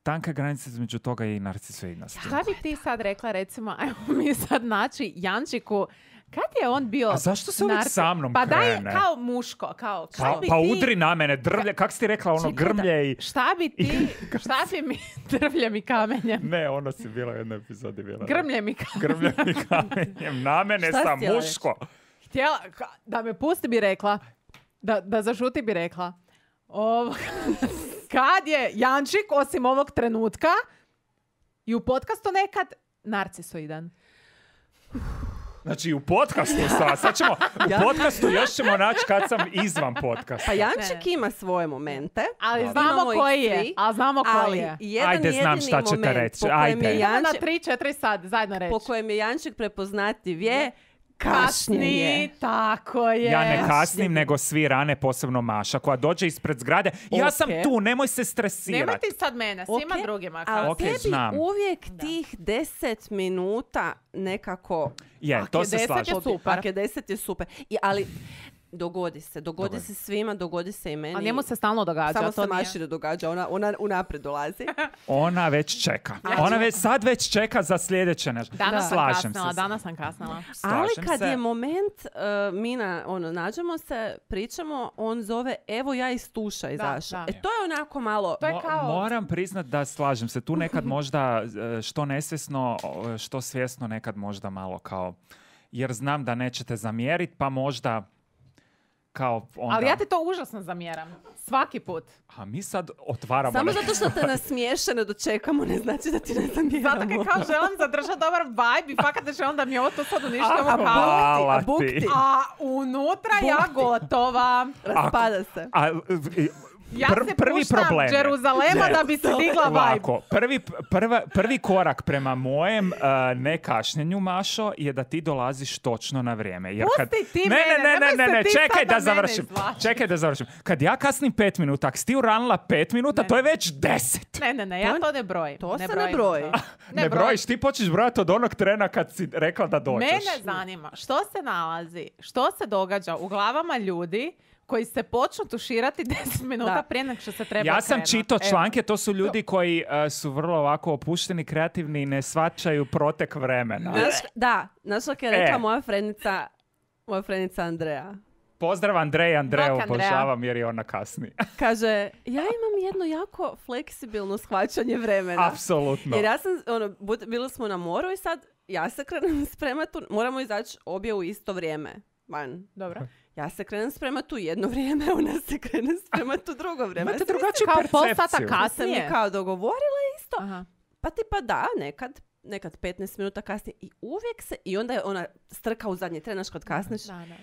[SPEAKER 1] tanka granica između toga i narcisoidnosti.
[SPEAKER 3] Šta bi ti sad rekla, recimo, ajmo mi sad naći Jančiku, kad je on bio...
[SPEAKER 1] A zašto se uvijek
[SPEAKER 3] narci-
[SPEAKER 1] sa mnom
[SPEAKER 3] Pa daj,
[SPEAKER 1] krene?
[SPEAKER 3] kao muško, kao...
[SPEAKER 1] Pa,
[SPEAKER 3] Kaj bi
[SPEAKER 1] pa
[SPEAKER 3] ti-
[SPEAKER 1] udri na mene, drvlje, kak si ti rekla, ono
[SPEAKER 4] Čekaj da-
[SPEAKER 1] grmlje i...
[SPEAKER 3] Šta bi ti, šta bi mi drvljem i kamenjem?
[SPEAKER 1] Ne, ono si bila u jednoj epizodi. Bila.
[SPEAKER 3] Grmljem i kamenjem.
[SPEAKER 1] Grmljem i kamenjem. Na mene
[SPEAKER 4] Šta si
[SPEAKER 1] sam
[SPEAKER 4] htjela
[SPEAKER 1] muško.
[SPEAKER 3] Htjela, ka- da me pusti bi rekla, da, da zašuti bi rekla. Ovo, kad je Jančik, osim ovog trenutka, i u podcastu nekad, narcisoidan.
[SPEAKER 1] Znači u podcastu sad, sad ćemo, u
[SPEAKER 4] Ja-
[SPEAKER 1] podcastu još ćemo naći kad sam izvan podcasta.
[SPEAKER 4] Pa Jančik
[SPEAKER 3] Ne.
[SPEAKER 4] ima svoje momente.
[SPEAKER 3] Ali
[SPEAKER 1] Dobro.
[SPEAKER 3] znamo
[SPEAKER 4] Imamo ih
[SPEAKER 3] koji je,
[SPEAKER 4] svi,
[SPEAKER 3] ali znamo koji
[SPEAKER 4] Ali
[SPEAKER 3] je.
[SPEAKER 4] jedan
[SPEAKER 1] Ajde, znam
[SPEAKER 4] jedini
[SPEAKER 1] šta ćete
[SPEAKER 4] moment
[SPEAKER 1] reći,
[SPEAKER 4] po kojem
[SPEAKER 1] ajde.
[SPEAKER 4] je
[SPEAKER 3] Idemo na
[SPEAKER 4] Jančik,
[SPEAKER 3] tri četiri sad, zajedno reći.
[SPEAKER 4] po kojem je Jančik prepoznativ je kašnjenje.
[SPEAKER 3] Kasni, tako je.
[SPEAKER 1] Ja ne kasnim,
[SPEAKER 4] Kašnjenje.
[SPEAKER 1] nego svi rane, posebno Maša, koja dođe ispred zgrade. Ja
[SPEAKER 4] Ok.
[SPEAKER 1] sam tu, nemoj se
[SPEAKER 3] Nemoj
[SPEAKER 1] stresirati.
[SPEAKER 3] ti sad mene, svima
[SPEAKER 4] Ok,
[SPEAKER 3] drugima.
[SPEAKER 4] Ali
[SPEAKER 3] kao.
[SPEAKER 1] Ok,
[SPEAKER 4] tebi
[SPEAKER 1] znam.
[SPEAKER 4] uvijek
[SPEAKER 3] Da.
[SPEAKER 4] tih deset minuta nekako...
[SPEAKER 1] Je,
[SPEAKER 4] Ak
[SPEAKER 1] to
[SPEAKER 4] je
[SPEAKER 1] se
[SPEAKER 4] deset
[SPEAKER 1] slažem.
[SPEAKER 3] je super.
[SPEAKER 4] Ak je deset je super. I, ali dogodi se, dogodi
[SPEAKER 1] Dogodi.
[SPEAKER 4] se svima, dogodi se i meni.
[SPEAKER 3] A njemu se stalno događa.
[SPEAKER 4] Samo
[SPEAKER 3] to
[SPEAKER 4] se
[SPEAKER 3] nije-
[SPEAKER 4] Maši ne događa, ona, ona unaprijed dolazi.
[SPEAKER 1] Ona već čeka. Ona već, sad već čeka za sljedeće nešto.
[SPEAKER 3] Danas sam
[SPEAKER 1] Slažem
[SPEAKER 3] kasnila,
[SPEAKER 1] se.
[SPEAKER 3] danas sam kasnila.
[SPEAKER 4] Ali
[SPEAKER 1] Slažem
[SPEAKER 4] kad
[SPEAKER 1] se.
[SPEAKER 4] je moment, uh, Mina, ono, nađemo se, pričamo, on zove, evo ja iz tuša izašao.
[SPEAKER 3] da.
[SPEAKER 4] E to je onako malo...
[SPEAKER 3] To je
[SPEAKER 1] Mo-
[SPEAKER 3] kao-
[SPEAKER 1] Moram priznat da slažem se. Tu nekad možda e, što nesvjesno, o, što svjesno nekad možda malo kao... Jer znam da nećete zamjeriti, pa možda kao onda...
[SPEAKER 3] Ali ja ti to užasno zamjeram. Svaki put.
[SPEAKER 1] A mi sad otvaramo...
[SPEAKER 4] Samo
[SPEAKER 1] neki-
[SPEAKER 4] zato što te nasmiješe ne dočekamo, ne znači da ti ne zamjeramo.
[SPEAKER 3] Zato kad kao želim zadržati dobar vibe i fakat da želim da mi ovo to sad uništimo
[SPEAKER 1] A,
[SPEAKER 3] kao...
[SPEAKER 1] hvala
[SPEAKER 4] a buk
[SPEAKER 1] ti.
[SPEAKER 4] ti.
[SPEAKER 3] A unutra ja gotova.
[SPEAKER 4] Raspada se.
[SPEAKER 1] A, e,
[SPEAKER 3] Ja
[SPEAKER 1] pr-
[SPEAKER 3] se
[SPEAKER 1] prvi
[SPEAKER 3] puštam
[SPEAKER 1] problem je-
[SPEAKER 3] Jeruzalema
[SPEAKER 1] Ne.
[SPEAKER 3] da bi se digla vibe.
[SPEAKER 1] Ovako, prvi, prva, prvi korak prema mojem uh, nekašnjenju, Mašo, je da ti dolaziš točno na vrijeme. Jer kad...
[SPEAKER 3] Pusti ti
[SPEAKER 1] ne,
[SPEAKER 3] mene,
[SPEAKER 1] ne, ne,
[SPEAKER 3] nemoj
[SPEAKER 1] ne,
[SPEAKER 3] se
[SPEAKER 1] ne,
[SPEAKER 3] ti
[SPEAKER 1] čekaj
[SPEAKER 3] sad
[SPEAKER 1] da
[SPEAKER 3] na mene
[SPEAKER 1] završim.
[SPEAKER 3] izvlačiti.
[SPEAKER 1] Čekaj da završim. Kad ja kasnim pet minuta, ako si ti uranila pet minuta,
[SPEAKER 3] Ne.
[SPEAKER 1] to je već deset.
[SPEAKER 3] Ne, ne, ne, ja
[SPEAKER 4] To-
[SPEAKER 3] to ne brojim.
[SPEAKER 4] to se ne
[SPEAKER 3] brojim
[SPEAKER 4] broji.
[SPEAKER 3] to.
[SPEAKER 1] Ne, brojiš, ti počneš brojati od onog trena kad si rekla da dođeš.
[SPEAKER 3] Mene zanima što se nalazi, što se događa u glavama ljudi koji se počnu tuširati deset minuta
[SPEAKER 4] Da.
[SPEAKER 3] prije nego što se treba
[SPEAKER 1] Ja sam
[SPEAKER 3] krenut.
[SPEAKER 1] čitao
[SPEAKER 3] Evo.
[SPEAKER 1] članke, to su ljudi koji uh, su vrlo ovako opušteni, kreativni i ne shvaćaju protek vremena.
[SPEAKER 4] Znaš, da, znaš što je rekla
[SPEAKER 1] E.
[SPEAKER 4] moja frenica, moja frenica Andreja.
[SPEAKER 1] Pozdrav Andrej, Andreju
[SPEAKER 3] Bok, Andreja.
[SPEAKER 1] obožavam jer je ona kasni.
[SPEAKER 4] Kaže, ja imam jedno jako fleksibilno shvaćanje vremena.
[SPEAKER 1] Apsolutno.
[SPEAKER 4] Jer ja sam, ono, bud- bili smo na moru i sad ja se krenem spremati, u- moramo izaći obje u isto vrijeme. Van.
[SPEAKER 3] Dobro.
[SPEAKER 4] Ja se krenem spremati u jedno vrijeme, ona se krene spremati u drugo vrijeme.
[SPEAKER 1] Imate
[SPEAKER 4] Ja sam
[SPEAKER 1] drugačiju
[SPEAKER 3] Kao pol sata
[SPEAKER 1] percepciju.
[SPEAKER 3] kasnije.
[SPEAKER 4] se mi kao dogovorila isto.
[SPEAKER 3] Aha.
[SPEAKER 4] Pa tipa da, nekad, nekad petnaest minuta kasnije i uvijek se, i onda je ona strka u zadnji tren, znaš kad kasniš.
[SPEAKER 3] Da, da, da.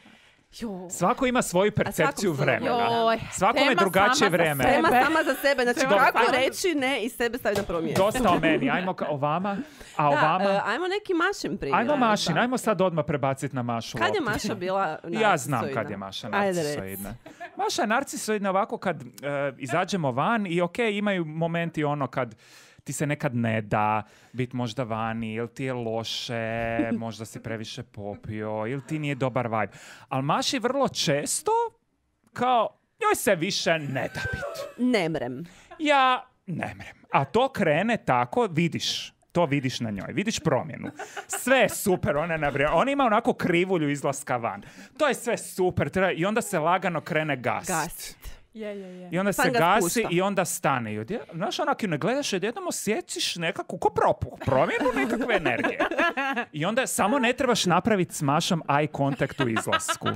[SPEAKER 4] Jo.
[SPEAKER 1] Svako ima svoju percepciju
[SPEAKER 4] svakom
[SPEAKER 1] vremena.
[SPEAKER 3] Joj,
[SPEAKER 1] Svakome
[SPEAKER 3] tema
[SPEAKER 1] drugačije
[SPEAKER 3] sama za
[SPEAKER 1] vreme.
[SPEAKER 3] sebe.
[SPEAKER 4] Tema sama za sebe, znači
[SPEAKER 3] Tema
[SPEAKER 4] kako
[SPEAKER 3] sama-
[SPEAKER 4] reći ne i sebe staviti na prvo mjesto.
[SPEAKER 1] Dosta o meni. Ajmo ka- o vama, a o
[SPEAKER 4] Da,
[SPEAKER 1] vama...
[SPEAKER 4] e, ajmo neki Mašin primjer.
[SPEAKER 1] Ajmo Mašin,
[SPEAKER 4] Da.
[SPEAKER 1] ajmo sad odmah prebaciti na Mašu
[SPEAKER 4] Kad je
[SPEAKER 1] loptu.
[SPEAKER 4] Maša bila
[SPEAKER 1] Ja znam
[SPEAKER 4] narcisoidna?
[SPEAKER 1] kad je Maša
[SPEAKER 4] Ajde, reci.
[SPEAKER 1] narcisoidna. Maša je narcisoidna ovako kad e, izađemo van i ok, imaju momenti ono kad ti se nekad ne da biti možda vani, ili ti je loše, možda si previše popio, ili ti nije dobar vibe. Ali Maši vrlo često kao njoj se više ne da biti.
[SPEAKER 4] Ne mrem.
[SPEAKER 1] Ja ne mrem. A to krene tako, vidiš. To vidiš na njoj. Vidiš promjenu. Sve je super. Ona, je na vrijeme- ona ima onako krivulju izlaska van. To je sve super. treba- I onda se lagano krene gasit.
[SPEAKER 4] Gasit.
[SPEAKER 3] Je, je, je.
[SPEAKER 1] I onda se
[SPEAKER 4] Sam ga
[SPEAKER 1] gasi
[SPEAKER 4] spušta.
[SPEAKER 1] i onda stane. I odje, znaš, onak ju ne gledaš, odjednom osjećiš nekakvu ko propuh, promjenu nekakve energije. I onda samo ne trebaš napraviti s Mašom eye contact u izlasku.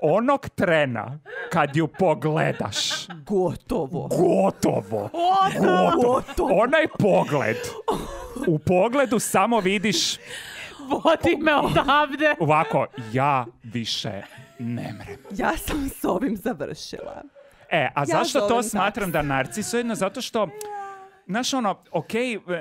[SPEAKER 1] onog trena kad ju pogledaš,
[SPEAKER 4] Gotovo.
[SPEAKER 1] gotovo, gotovo, onaj pogled, u pogledu samo vidiš
[SPEAKER 3] Vodi me odavde.
[SPEAKER 1] ovako, ja više ne mrem.
[SPEAKER 4] Ja sam s ovim završila.
[SPEAKER 1] E, a zašto to
[SPEAKER 4] zovem
[SPEAKER 1] smatram da narcisoidno? Zato što, znaš ono, ok,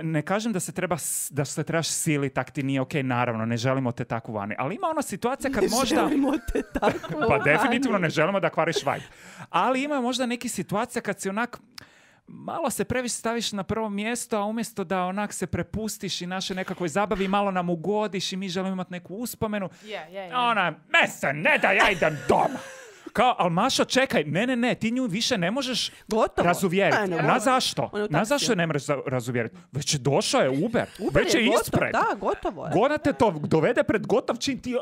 [SPEAKER 1] ne kažem da se treba, da se trebaš siliti, tak ti nije ok, naravno, ne želimo te tako vani. Ali ima ona situacija kad
[SPEAKER 4] Ne
[SPEAKER 1] možda...
[SPEAKER 4] želimo te tako
[SPEAKER 1] Pa
[SPEAKER 4] vani.
[SPEAKER 1] definitivno ne želimo da kvariš vibe. Ali ima možda neki situacija kad si onak malo se previše staviš na prvo mjesto, a umjesto da onak se prepustiš i naše nekakvoj zabavi, malo nam ugodiš i mi želimo imati neku uspomenu.
[SPEAKER 3] Je, je, je.
[SPEAKER 1] Ona, me se ne da ja idem doma. Kao, ali Mašo, čekaj, ne, ne, ne, ti nju više ne možeš
[SPEAKER 4] Gotovo.
[SPEAKER 1] razuvjeriti.
[SPEAKER 4] Ne, ne,
[SPEAKER 1] Na
[SPEAKER 4] gotovo.
[SPEAKER 1] zašto?
[SPEAKER 4] On je u
[SPEAKER 1] Na
[SPEAKER 4] taksiju.
[SPEAKER 1] zašto je ne možeš za- razuvjeriti? Već je došao je Uber,
[SPEAKER 4] Uber
[SPEAKER 1] već je,
[SPEAKER 4] gotov,
[SPEAKER 1] ispred.
[SPEAKER 4] Da, gotovo je.
[SPEAKER 1] Gona te to dovede pred gotov čin ti, a,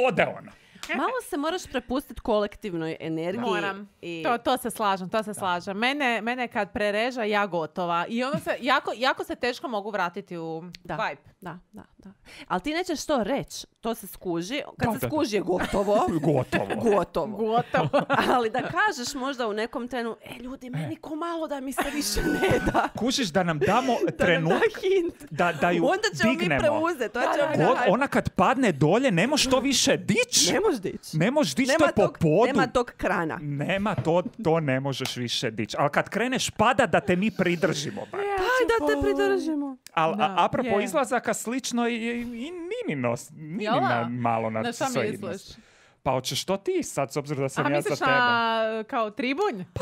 [SPEAKER 1] ode ona.
[SPEAKER 4] Malo se moraš prepustiti kolektivnoj energiji.
[SPEAKER 3] Moram.
[SPEAKER 4] I...
[SPEAKER 3] To, to se slažem, to se slažem. Mene, mene kad prereža, ja gotova. I ono se, jako, jako se teško mogu vratiti u
[SPEAKER 4] Da.
[SPEAKER 3] vibe.
[SPEAKER 4] Da, da, da. Ali ti nećeš to reći, to se skuži. Kad
[SPEAKER 1] Da,
[SPEAKER 4] se
[SPEAKER 1] da, da.
[SPEAKER 4] skuži je gotovo.
[SPEAKER 1] Gotovo.
[SPEAKER 4] Gotovo.
[SPEAKER 3] Gotovo.
[SPEAKER 4] Ali da kažeš možda u nekom trenu, e ljudi, meni ko malo da mi se više ne da.
[SPEAKER 1] Kužiš da nam damo
[SPEAKER 4] Da nam
[SPEAKER 1] trenutak
[SPEAKER 4] da hint.
[SPEAKER 1] da, da ju
[SPEAKER 4] Onda ćemo
[SPEAKER 1] dignemo.
[SPEAKER 4] mi preuzeti. To ćemo mi
[SPEAKER 1] God,
[SPEAKER 4] da-
[SPEAKER 1] ona kad padne dolje, ne moš to više dić.
[SPEAKER 4] Ne možeš dići.
[SPEAKER 1] Ne možeš dić to
[SPEAKER 4] Nema
[SPEAKER 1] po
[SPEAKER 4] tog,
[SPEAKER 1] podu.
[SPEAKER 4] nema tog krana.
[SPEAKER 1] Nema, to, to ne možeš više dić. Ali kad kreneš pada da te mi pridržimo. bar.
[SPEAKER 4] Daj da te pridržimo.
[SPEAKER 1] Ali
[SPEAKER 3] Da,
[SPEAKER 1] apropo
[SPEAKER 3] je.
[SPEAKER 1] izlazaka, slično i, i, i Ninino,
[SPEAKER 3] Jel da?
[SPEAKER 1] Ninina malo
[SPEAKER 3] Na šta
[SPEAKER 1] narcisoidnost.
[SPEAKER 3] misliš?
[SPEAKER 1] Pa hoćeš to ti sad, s obzirom da sam
[SPEAKER 3] A
[SPEAKER 1] ja za
[SPEAKER 3] misliš
[SPEAKER 1] tebe.
[SPEAKER 3] na kao tribunj? Pa,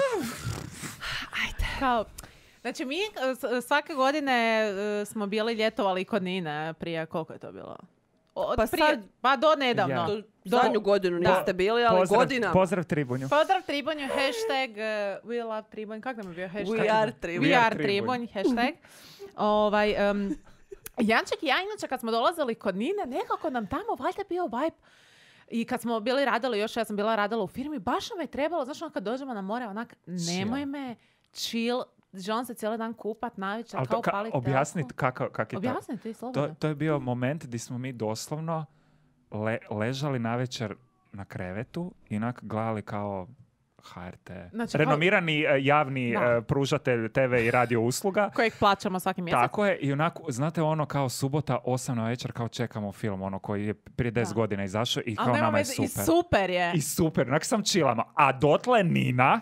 [SPEAKER 4] Ajde.
[SPEAKER 3] kao... Znači, mi e, s- svake godine e, smo bili ljetovali kod Nine prije, koliko je to bilo? Od
[SPEAKER 4] Pa
[SPEAKER 3] prije,
[SPEAKER 4] sad-
[SPEAKER 3] pa do nedavno.
[SPEAKER 1] Ja.
[SPEAKER 4] Do-
[SPEAKER 3] Do-
[SPEAKER 4] Zadnju godinu
[SPEAKER 3] Da.
[SPEAKER 4] niste bili, ali
[SPEAKER 1] Pozdrav,
[SPEAKER 4] godinama.
[SPEAKER 1] pozdrav Tribunju.
[SPEAKER 3] Pozdrav Tribunju, hashtag uh, we love Tribunj. Kako nam je bio hashtag?
[SPEAKER 4] We are Tribunj.
[SPEAKER 3] We
[SPEAKER 1] We are
[SPEAKER 3] are Tribunj, hashtag. ovaj, um, Janček i ja, inače, kad smo dolazili kod Nine, nekako nam tamo valjda bio vibe. I kad smo bili radili, još ja sam bila radila u firmi, baš nam je trebalo, znaš, ono kad dođemo na more, onak, nemoj
[SPEAKER 1] Chill.
[SPEAKER 3] me, chill, želim se cijeli dan kupat, navečer,
[SPEAKER 1] Ali
[SPEAKER 3] kao
[SPEAKER 1] to, ka,
[SPEAKER 3] paliti
[SPEAKER 1] objasnit
[SPEAKER 3] telefon.
[SPEAKER 1] kako, kak je to.
[SPEAKER 3] Objasni ti,
[SPEAKER 1] To,
[SPEAKER 3] slobodno.
[SPEAKER 1] to je bio moment gdje smo mi doslovno le, ležali navečer na krevetu i onak gledali kao H R T.
[SPEAKER 3] Znači, kao-
[SPEAKER 1] Renomirani e, javni
[SPEAKER 3] Da.
[SPEAKER 1] e, pružatelj te ve i radio usluga.
[SPEAKER 3] Kojeg plaćamo svaki mjesec.
[SPEAKER 1] Tako je, i onako, znate ono kao subota, osam na večer, kao čekamo film, ono koji je prije deset
[SPEAKER 3] Da.
[SPEAKER 1] godina izašao i
[SPEAKER 3] Ali
[SPEAKER 1] kao
[SPEAKER 3] nema
[SPEAKER 1] nama je
[SPEAKER 3] veze, i
[SPEAKER 1] super.
[SPEAKER 3] super je.
[SPEAKER 1] I super, onak sam chillama. A dotle Nina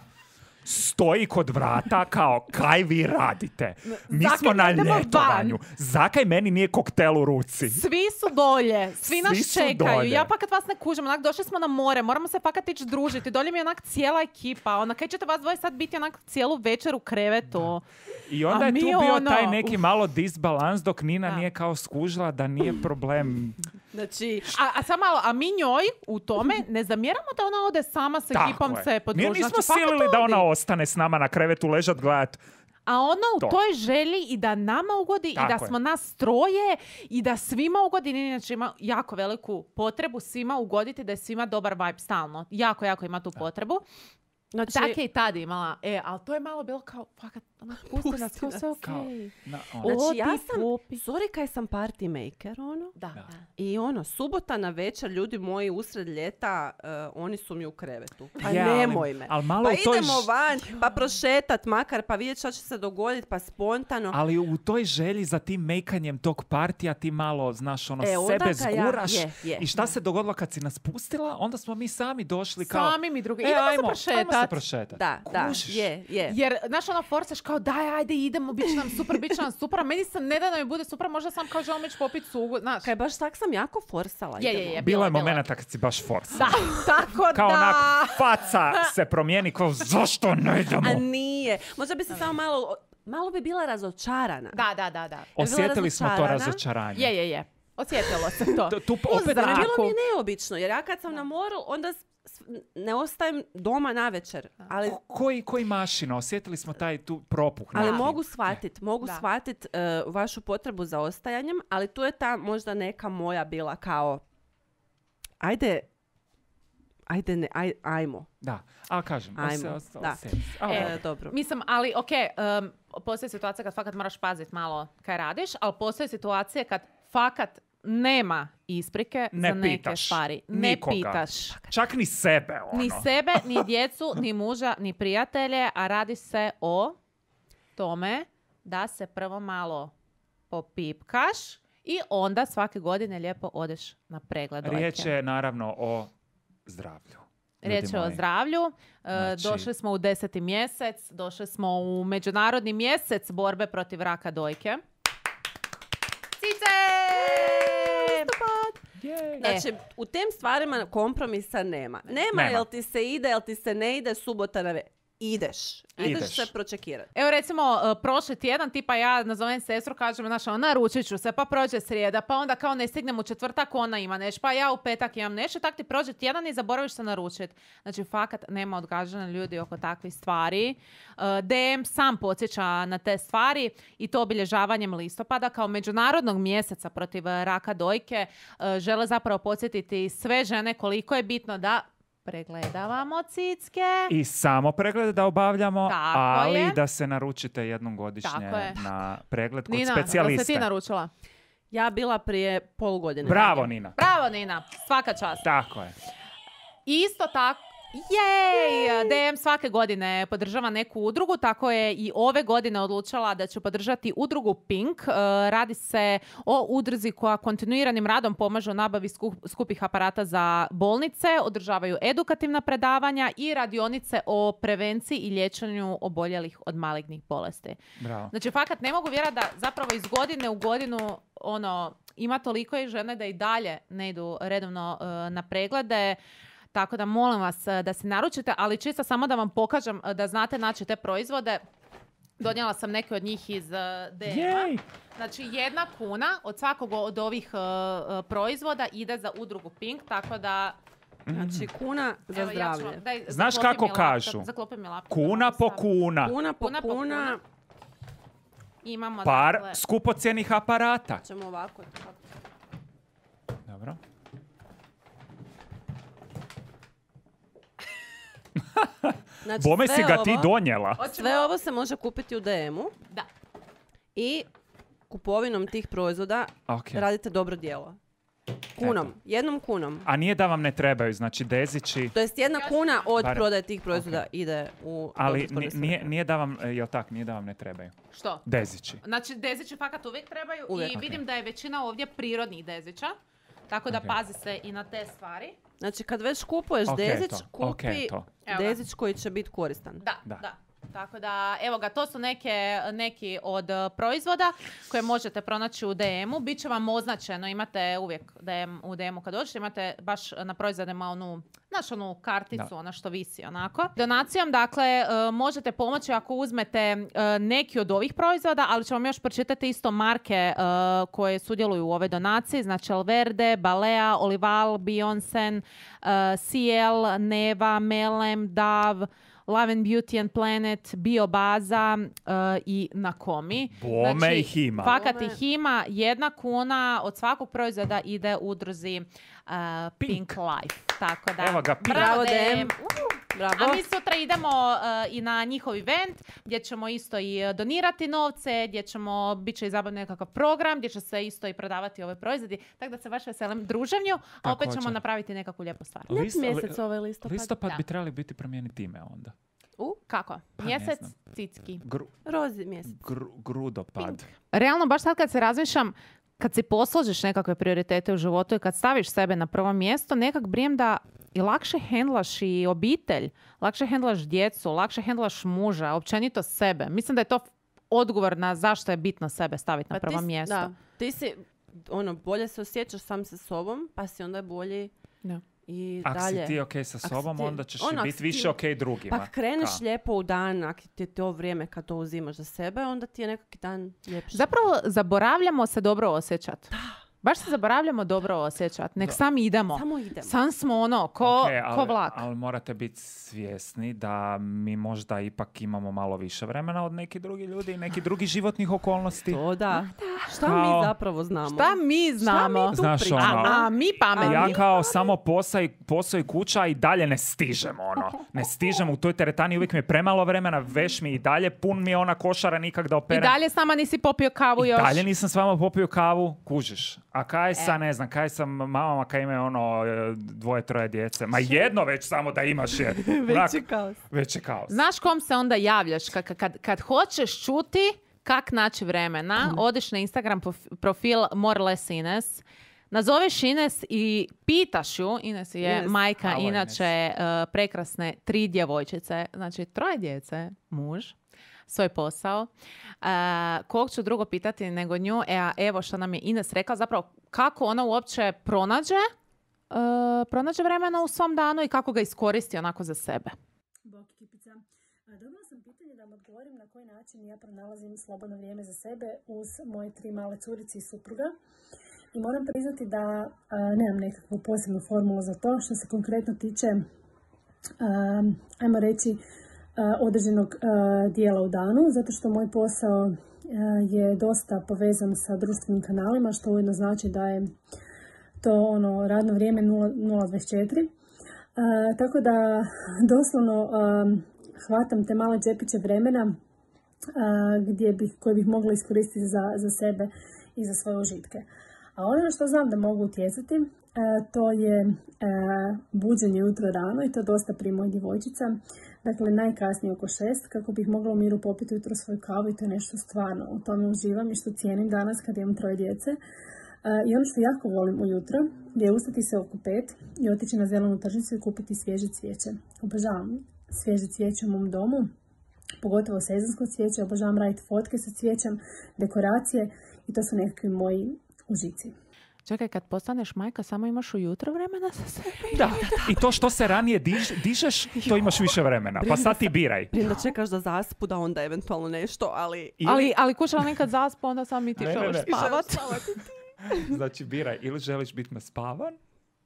[SPEAKER 1] stoji kod vrata kao, kaj vi radite? Mi
[SPEAKER 3] zakaj
[SPEAKER 1] smo na
[SPEAKER 3] ne idemo van?
[SPEAKER 1] ljetovanju. Zakaj meni nije koktel u ruci?
[SPEAKER 3] Svi su dolje, svi nas
[SPEAKER 1] Svi su
[SPEAKER 3] čekaju.
[SPEAKER 1] dolje.
[SPEAKER 3] Ja pakat vas ne kužim, onak došli smo na more, moramo se pakat ići družiti. Dolje mi je onak cijela ekipa, onak kaj ćete vas dvoje sad biti onak cijelu večer u krevetu.
[SPEAKER 1] I onda
[SPEAKER 3] A
[SPEAKER 1] je
[SPEAKER 3] mi
[SPEAKER 1] tu bio
[SPEAKER 3] ono,
[SPEAKER 1] taj neki
[SPEAKER 3] uf.
[SPEAKER 1] malo disbalans dok Nina
[SPEAKER 3] Da.
[SPEAKER 1] nije kao skužila da nije problem.
[SPEAKER 4] Znači,
[SPEAKER 3] A, a sad malo, a mi njoj u tome ne zamjeramo da ona ode sama s
[SPEAKER 1] Tako
[SPEAKER 3] ekipom
[SPEAKER 1] je.
[SPEAKER 3] se
[SPEAKER 1] Mi
[SPEAKER 3] podružiti.
[SPEAKER 1] nismo
[SPEAKER 3] Znači, fakat
[SPEAKER 1] silili da
[SPEAKER 3] odi.
[SPEAKER 1] ona ostane s nama na krevetu ležat gledat.
[SPEAKER 3] A ono u
[SPEAKER 1] To.
[SPEAKER 3] toj želji i da nama ugodi
[SPEAKER 1] Tako
[SPEAKER 3] i da
[SPEAKER 1] je.
[SPEAKER 3] smo nas troje i da svima ugodi. Nina inače ima jako veliku potrebu svima ugoditi, da je svima dobar vibe stalno. Jako, jako ima tu potrebu.
[SPEAKER 4] znači
[SPEAKER 3] Tak je i tad imala. E, ali to je malo bilo kao, fakat, ono, pusti
[SPEAKER 4] Pusti
[SPEAKER 3] nas, kao
[SPEAKER 4] nas.
[SPEAKER 3] sve okej.
[SPEAKER 1] Kao, na, ono.
[SPEAKER 3] O,
[SPEAKER 4] Znači, ja
[SPEAKER 3] ti
[SPEAKER 4] sam,
[SPEAKER 3] popi.
[SPEAKER 4] sorry kaj sam party maker, ono.
[SPEAKER 3] Da.
[SPEAKER 1] Da.
[SPEAKER 4] I ono, subota na večer, ljudi moji, usred ljeta, eh, oni su mi u krevetu. Pa
[SPEAKER 1] Je, ali-
[SPEAKER 4] nemoj me.
[SPEAKER 1] ali malo
[SPEAKER 4] pa
[SPEAKER 1] u toj
[SPEAKER 4] idemo
[SPEAKER 1] ž-
[SPEAKER 4] van, pa prošetat makar, pa vidjet šta će se dogoditi, pa spontano.
[SPEAKER 1] Ali u toj želji za tim mejkanjem tog partija ti malo, znaš, ono,
[SPEAKER 4] E, onda
[SPEAKER 1] sebe
[SPEAKER 4] kad ja-
[SPEAKER 1] zguraš.
[SPEAKER 4] je, je.
[SPEAKER 1] I šta se dogodilo kad si nas pustila? Onda smo mi sami došli kao...
[SPEAKER 3] Sami mi drugi.
[SPEAKER 1] E,
[SPEAKER 3] Idemo
[SPEAKER 1] ajmo,
[SPEAKER 3] se
[SPEAKER 1] ajmo se
[SPEAKER 3] prošetat.
[SPEAKER 1] prošetat.
[SPEAKER 4] Da, da,
[SPEAKER 1] Kužiš?
[SPEAKER 4] je, je.
[SPEAKER 3] Jer, znaš, ono, forsaš kao, daj, ajde, idemo, bit će nam super, bit će nam super. A meni se ne da da mi bude super, možda sam kao želim ići popit sugu, znaš.
[SPEAKER 4] Kaj baš tak sam jako forsala.
[SPEAKER 3] Je, je,
[SPEAKER 4] idemo.
[SPEAKER 3] je.
[SPEAKER 1] Bilo je
[SPEAKER 3] bilo je.
[SPEAKER 1] momenata kad si baš forsa.
[SPEAKER 3] Da, tako
[SPEAKER 1] Kao
[SPEAKER 3] da.
[SPEAKER 1] onak, faca se promijeni, kao zašto ne idemo?
[SPEAKER 4] A nije. Možda bi se samo malo, malo bi bila razočarana.
[SPEAKER 3] Da, da, da, da.
[SPEAKER 1] Osjetili smo to
[SPEAKER 4] razočarana.
[SPEAKER 1] razočaranje.
[SPEAKER 3] Je, je, je. Osjetilo se to.
[SPEAKER 1] To- tu
[SPEAKER 3] U
[SPEAKER 1] opet-
[SPEAKER 3] zraku.
[SPEAKER 4] Bilo mi je neobično, jer ja kad sam na moru, onda s- s- ne ostajem doma na večer. Ali,
[SPEAKER 1] Ko- Koji, koji mašina? Osjetili smo taj tu propuh.
[SPEAKER 4] ali
[SPEAKER 1] neki.
[SPEAKER 4] mogu shvatit, mogu
[SPEAKER 3] Da.
[SPEAKER 4] shvatit eh, vašu potrebu za ostajanjem, ali tu je ta možda neka moja bila kao, ajde, ajde, ne, aj, ajmo.
[SPEAKER 1] Da, ali kažem,
[SPEAKER 4] Ajmo,
[SPEAKER 1] ose- ose-
[SPEAKER 4] da.
[SPEAKER 1] osjeti se. Ali
[SPEAKER 3] E,
[SPEAKER 1] dobro.
[SPEAKER 4] E, dobro.
[SPEAKER 3] Mislim, ali ok, um, postoji situacija kad fakat moraš paziti malo kaj radiš, ali postoji situacije kad fakat nema isprike
[SPEAKER 1] Ne
[SPEAKER 3] za neke
[SPEAKER 1] pitaš
[SPEAKER 3] stvari. Ne
[SPEAKER 1] nikoga.
[SPEAKER 3] pitaš.
[SPEAKER 1] Čak ni sebe, ono.
[SPEAKER 3] Ni sebe, ni djecu, ni muža, ni prijatelje, a radi se o tome da se prvo malo popipkaš i onda svake godine lijepo odeš na pregled dojke.
[SPEAKER 1] Riječ je naravno o zdravlju.
[SPEAKER 3] Riječ
[SPEAKER 1] Ljudi
[SPEAKER 3] je o
[SPEAKER 1] moji.
[SPEAKER 3] zdravlju. E,
[SPEAKER 1] Znači-
[SPEAKER 3] Došli smo u deseti mjesec, došli smo u međunarodni mjesec borbe protiv raka dojke. Cice!
[SPEAKER 1] Jej.
[SPEAKER 4] Znači, u tem stvarima kompromisa nema. Nema,
[SPEAKER 1] Nema.
[SPEAKER 4] jel ti se ide, jel ti se ne ide, subota na ve... Ideš. Ideš,
[SPEAKER 1] Ideš.
[SPEAKER 4] se pročekirati.
[SPEAKER 3] Evo recimo, uh, prošli tjedan, tipa ja nazovem sestru, kažem, znaš, ono, naručit ću se, pa prođe srijeda, pa onda kao ne stignem u četvrtak, ona ima neš, pa ja u petak imam nešto, tak ti prođe tjedan i zaboraviš se naručiti. Znači, fakat nema odgađanja ljudi oko takvih stvari. Uh, D M sam podsjeća na te stvari i to obilježavanjem listopada kao međunarodnog mjeseca protiv uh, raka dojke uh, žele zapravo podsjetiti sve žene koliko je bitno da pregledavamo cicke.
[SPEAKER 1] I samo pregled da obavljamo,
[SPEAKER 3] Tako
[SPEAKER 1] ali
[SPEAKER 3] je.
[SPEAKER 1] da se naručite jednom godišnje
[SPEAKER 3] Tako je.
[SPEAKER 1] na pregled kod
[SPEAKER 3] Nina, jel
[SPEAKER 1] specijaliste.
[SPEAKER 3] se ti naručila?
[SPEAKER 4] Ja bila prije pol godine.
[SPEAKER 1] Bravo, Nina.
[SPEAKER 3] Bravo, Nina. Svaka čast.
[SPEAKER 1] Tako je.
[SPEAKER 3] Isto tako, jej! D M svake godine podržava neku udrugu, tako je i ove godine odlučila da će podržati udrugu Pink. E, Radi se o udruzi koja kontinuiranim radom pomaže u nabavi sku- skupih aparata za bolnice, održavaju edukativna predavanja i radionice o prevenciji i liječenju oboljelih od malignih bolesti.
[SPEAKER 1] Bravo.
[SPEAKER 3] Znači, fakat ne mogu vjerati da zapravo iz godine u godinu ono, ima toliko i žene da i dalje ne idu redovno e, na preglede. Tako da molim vas e, da se naručite, ali čisto samo da vam pokažem e, da znate naći te proizvode. Donijela sam neke od njih iz e, D M-a.
[SPEAKER 1] Jej!
[SPEAKER 3] Znači, jedna kuna od svakog od ovih e, e, proizvoda ide za udrugu Pink, tako da...
[SPEAKER 4] Znači, kuna za
[SPEAKER 3] evo, ja ću
[SPEAKER 4] zdravlje.
[SPEAKER 3] vam- daj,
[SPEAKER 1] Znaš
[SPEAKER 3] zaklopi
[SPEAKER 1] kako
[SPEAKER 3] mi laptop,
[SPEAKER 1] kažu?
[SPEAKER 3] zaklopi mi laptop,
[SPEAKER 1] Kuna
[SPEAKER 3] da
[SPEAKER 1] po
[SPEAKER 3] mogu staviti.
[SPEAKER 1] kuna.
[SPEAKER 4] Kuna po
[SPEAKER 3] Kuna po
[SPEAKER 4] kuna.
[SPEAKER 3] kuna. Imamo,
[SPEAKER 1] Par
[SPEAKER 3] dakle,
[SPEAKER 1] skupocjenih aparata.
[SPEAKER 4] Ćemo ovako.
[SPEAKER 1] Dobro.
[SPEAKER 4] Znači,
[SPEAKER 1] Bome
[SPEAKER 4] sve
[SPEAKER 1] si ga ti
[SPEAKER 4] ovo-
[SPEAKER 1] donijela.
[SPEAKER 3] hoćemo-
[SPEAKER 4] Sve ovo se može kupiti u D M-u
[SPEAKER 3] Da.
[SPEAKER 4] i kupovinom tih proizvoda
[SPEAKER 1] Ok.
[SPEAKER 4] radite dobro djelo. Kunom.
[SPEAKER 1] Eto.
[SPEAKER 4] Jednom kunom.
[SPEAKER 1] A nije da vam ne trebaju, znači dezići,
[SPEAKER 4] To jest jedna kuna od
[SPEAKER 1] Barem-
[SPEAKER 4] prodaje tih proizvoda
[SPEAKER 1] Ok.
[SPEAKER 4] ide u
[SPEAKER 1] ali
[SPEAKER 4] dobrotvorne
[SPEAKER 1] ni- nije,
[SPEAKER 4] svrhe.
[SPEAKER 1] nije da vam, e, jel tak, nije da vam ne trebaju.
[SPEAKER 3] Što?
[SPEAKER 1] Dezići.
[SPEAKER 3] Znači, dezići fakat uvijek trebaju
[SPEAKER 4] Uvijek.
[SPEAKER 3] i
[SPEAKER 1] Ok.
[SPEAKER 3] vidim da je većina ovdje prirodnih dezića. Tako da
[SPEAKER 1] Ok.
[SPEAKER 3] pazi se i na te stvari.
[SPEAKER 4] Znači, kad već kupuješ
[SPEAKER 1] Ok,
[SPEAKER 4] dezić,
[SPEAKER 1] to.
[SPEAKER 4] kupi
[SPEAKER 1] Ok, to.
[SPEAKER 3] Evo ga.
[SPEAKER 4] dezić koji će biti koristan.
[SPEAKER 3] Da, da,
[SPEAKER 1] Da.
[SPEAKER 3] Tako da, evo ga, to su neke, neki od uh, proizvoda koje možete pronaći u D M-u. Biće vam označeno, imate uvijek D M, u D M-u kad dođete, imate baš na proizvodima onu, znaš, onu karticu,
[SPEAKER 1] Da.
[SPEAKER 3] ona što visi onako. Donacijom, dakle, uh, možete pomoći ako uzmete uh, neki od ovih proizvoda, ali ću vam još pročitati isto marke uh, koje sudjeluju u ovoj donaciji. Znači, Alverde, Balea, Olival, Bionsen, uh, C L, Neva, Melem, Dav, Love and Beauty and Planet, Biobaza uh, i Nakomi.
[SPEAKER 1] Bome ih ima.
[SPEAKER 3] Fakat
[SPEAKER 4] Bome.
[SPEAKER 3] ih ima. Jedna kuna od svakog proizvoda ide udruzi uh, Pink.
[SPEAKER 1] Pink.
[SPEAKER 3] Life. Tako da,
[SPEAKER 1] Evo ga, Pink.
[SPEAKER 4] Bravo,
[SPEAKER 3] D M.
[SPEAKER 4] D M. Bravo.
[SPEAKER 3] A mi sutra idemo uh, i na njihov event gdje ćemo isto i uh, donirati novce, gdje ćemo, bit će i zabavno nekakav program, gdje će se isto i prodavati ove proizvodi. Tako da se baš veselim druženju, a opet ćemo
[SPEAKER 1] Također.
[SPEAKER 3] napraviti nekakvu lijepu stvar.
[SPEAKER 4] Nek
[SPEAKER 1] List-
[SPEAKER 4] mjesec
[SPEAKER 1] li-
[SPEAKER 4] ovaj listopad.
[SPEAKER 1] Listopad
[SPEAKER 3] Da.
[SPEAKER 1] bi trebali biti promijeniti ime onda.
[SPEAKER 4] U,
[SPEAKER 3] Kako?
[SPEAKER 1] Pa ne
[SPEAKER 3] Mjesec
[SPEAKER 1] znam.
[SPEAKER 3] cicki.
[SPEAKER 1] Gru,
[SPEAKER 4] rozi mjesec.
[SPEAKER 1] gru, grudopad.
[SPEAKER 3] Realno, baš sad kad se razmišljam, kad si posložiš nekakve prioritete u životu i kad staviš sebe na prvo mjesto, nekak brijem da i lakše hendlaš i obitelj, lakše hendlaš djecu, lakše hendlaš muža, općenito sebe. Mislim da je to odgovor na zašto je bitno sebe staviti na
[SPEAKER 4] Pa ti
[SPEAKER 3] prvo
[SPEAKER 4] si-
[SPEAKER 3] mjesto.
[SPEAKER 4] Da, ti si, ono, bolje se osjećaš sam sa sobom, pa si onda bolji
[SPEAKER 3] Da.
[SPEAKER 4] i
[SPEAKER 1] Ako
[SPEAKER 4] dalje.
[SPEAKER 1] si ti ok sa
[SPEAKER 4] Ako si
[SPEAKER 1] sobom,
[SPEAKER 4] ti-
[SPEAKER 1] onda ćeš
[SPEAKER 4] ono,
[SPEAKER 1] i
[SPEAKER 4] ako
[SPEAKER 1] biti
[SPEAKER 4] si
[SPEAKER 1] više
[SPEAKER 4] ti-
[SPEAKER 1] ok drugima.
[SPEAKER 4] Pa kreneš
[SPEAKER 1] Ka?
[SPEAKER 4] lijepo u dan, ako ti je to vrijeme kad to uzimaš za sebe, onda ti je nekakvi dan ljepši.
[SPEAKER 3] Zapravo zaboravljamo se dobro osjećati. Baš se zaboravljamo dobro osjećati. Nek
[SPEAKER 1] Da.
[SPEAKER 3] sami idemo.
[SPEAKER 4] Samo idemo.
[SPEAKER 3] Sam smo ono, ko,
[SPEAKER 1] Ok,
[SPEAKER 3] ko
[SPEAKER 1] ali,
[SPEAKER 3] vlak.
[SPEAKER 1] ali morate biti svjesni da mi možda ipak imamo malo više vremena od neki drugi ljudi i neki drugih životnih okolnosti.
[SPEAKER 4] To da. Šta
[SPEAKER 1] Kao-
[SPEAKER 4] mi zapravo znamo?
[SPEAKER 3] Šta mi znamo?
[SPEAKER 4] tu
[SPEAKER 1] Znaš,
[SPEAKER 4] pričamo?
[SPEAKER 1] ono,
[SPEAKER 3] A, a mi pametni.
[SPEAKER 1] Ja kao samo posao i, posao i kuća i dalje ne stižem, ono. Ne stižem u toj teretani, uvijek mi je premalo vremena, veš mi i dalje, pun mi je ona košara nikak da
[SPEAKER 3] I
[SPEAKER 1] operem.
[SPEAKER 3] dalje s nama nisi popio kavu
[SPEAKER 1] I
[SPEAKER 3] još.
[SPEAKER 1] dalje nisam s vama popio kavu, kužiš. A kaj sa, ne znam, kaj sa mamama kaj imaju ono dvoje, troje djece? Ma jedno već samo da imaš je.
[SPEAKER 4] Već je kaos.
[SPEAKER 1] Već je kaos.
[SPEAKER 3] Znaš kom se onda javljaš? Kad, kad, kad hoćeš čuti kak naći vremena, odiš na Instagram profil More Less Ines, nazoveš Ines i pitaš ju, Ines je
[SPEAKER 4] Ines.
[SPEAKER 3] majka,
[SPEAKER 1] Halo,
[SPEAKER 3] inače uh, prekrasne tri djevojčice, znači troje djece, muž, svoj posao. Uh, kog ću drugo pitati nego nju? E, a evo što nam je Ines rekla, zapravo kako ona uopće pronađe, uh, pronađe vremena u svom danu i kako ga iskoristi onako za sebe.
[SPEAKER 5] Bok ekipica. Dobila sam pitanje da vam odgovorim na koji način ja pronalazim slobodno vrijeme za sebe uz moje tri male curice i supruga. I moram priznati da a, nemam nekakvu posebnu formulu za to što se konkretno tiče, a, ajmo reći, a, određenog a, dijela u danu, zato što moj posao a, je dosta povezan sa društvenim kanalima, što ujedno znači da je to ono radno vrijeme nula dvadeset četiri. A, tako da doslovno a, hvatam te male džepiće vremena a, gdje bih, koje bih mogla iskoristiti za, za sebe i za svoje užitke. A ono na što znam da mogu utjecati, a, to je a, buđenje ujutro rano i to dosta pri mojih djevojčica. Dakle, najkasnije oko šest, kako bih mogla u miru popiti ujutro svoju kavu i to je nešto stvarno. U tome uživam i što cijenim danas kad imam troje djece. A, I ono što jako volim ujutro je ustati se oko pet i otići na zelenu tržnicu i kupiti svježe cvijeće. Obožavam svježe cvijeće u mom domu, pogotovo sezonsko cvijeće. Obožavam raditi fotke sa cvijećem, dekoracije i to su nekakvi moji užici.
[SPEAKER 3] Čekaj, kad postaneš majka, samo imaš ujutro vremena za sebe?
[SPEAKER 1] Da, i to što se ranije diž, dižeš, to imaš više vremena. Pa sad ti biraj.
[SPEAKER 4] Prije da čekaš da zaspu, da onda eventualno nešto, ali...
[SPEAKER 1] Ili-
[SPEAKER 3] Ali, ali kuća nekad zaspa, onda sam i ti
[SPEAKER 1] Ne, ne,
[SPEAKER 3] želiš
[SPEAKER 1] ne.
[SPEAKER 3] spavat.
[SPEAKER 1] Znači, biraj. Ili želiš biti naspavan,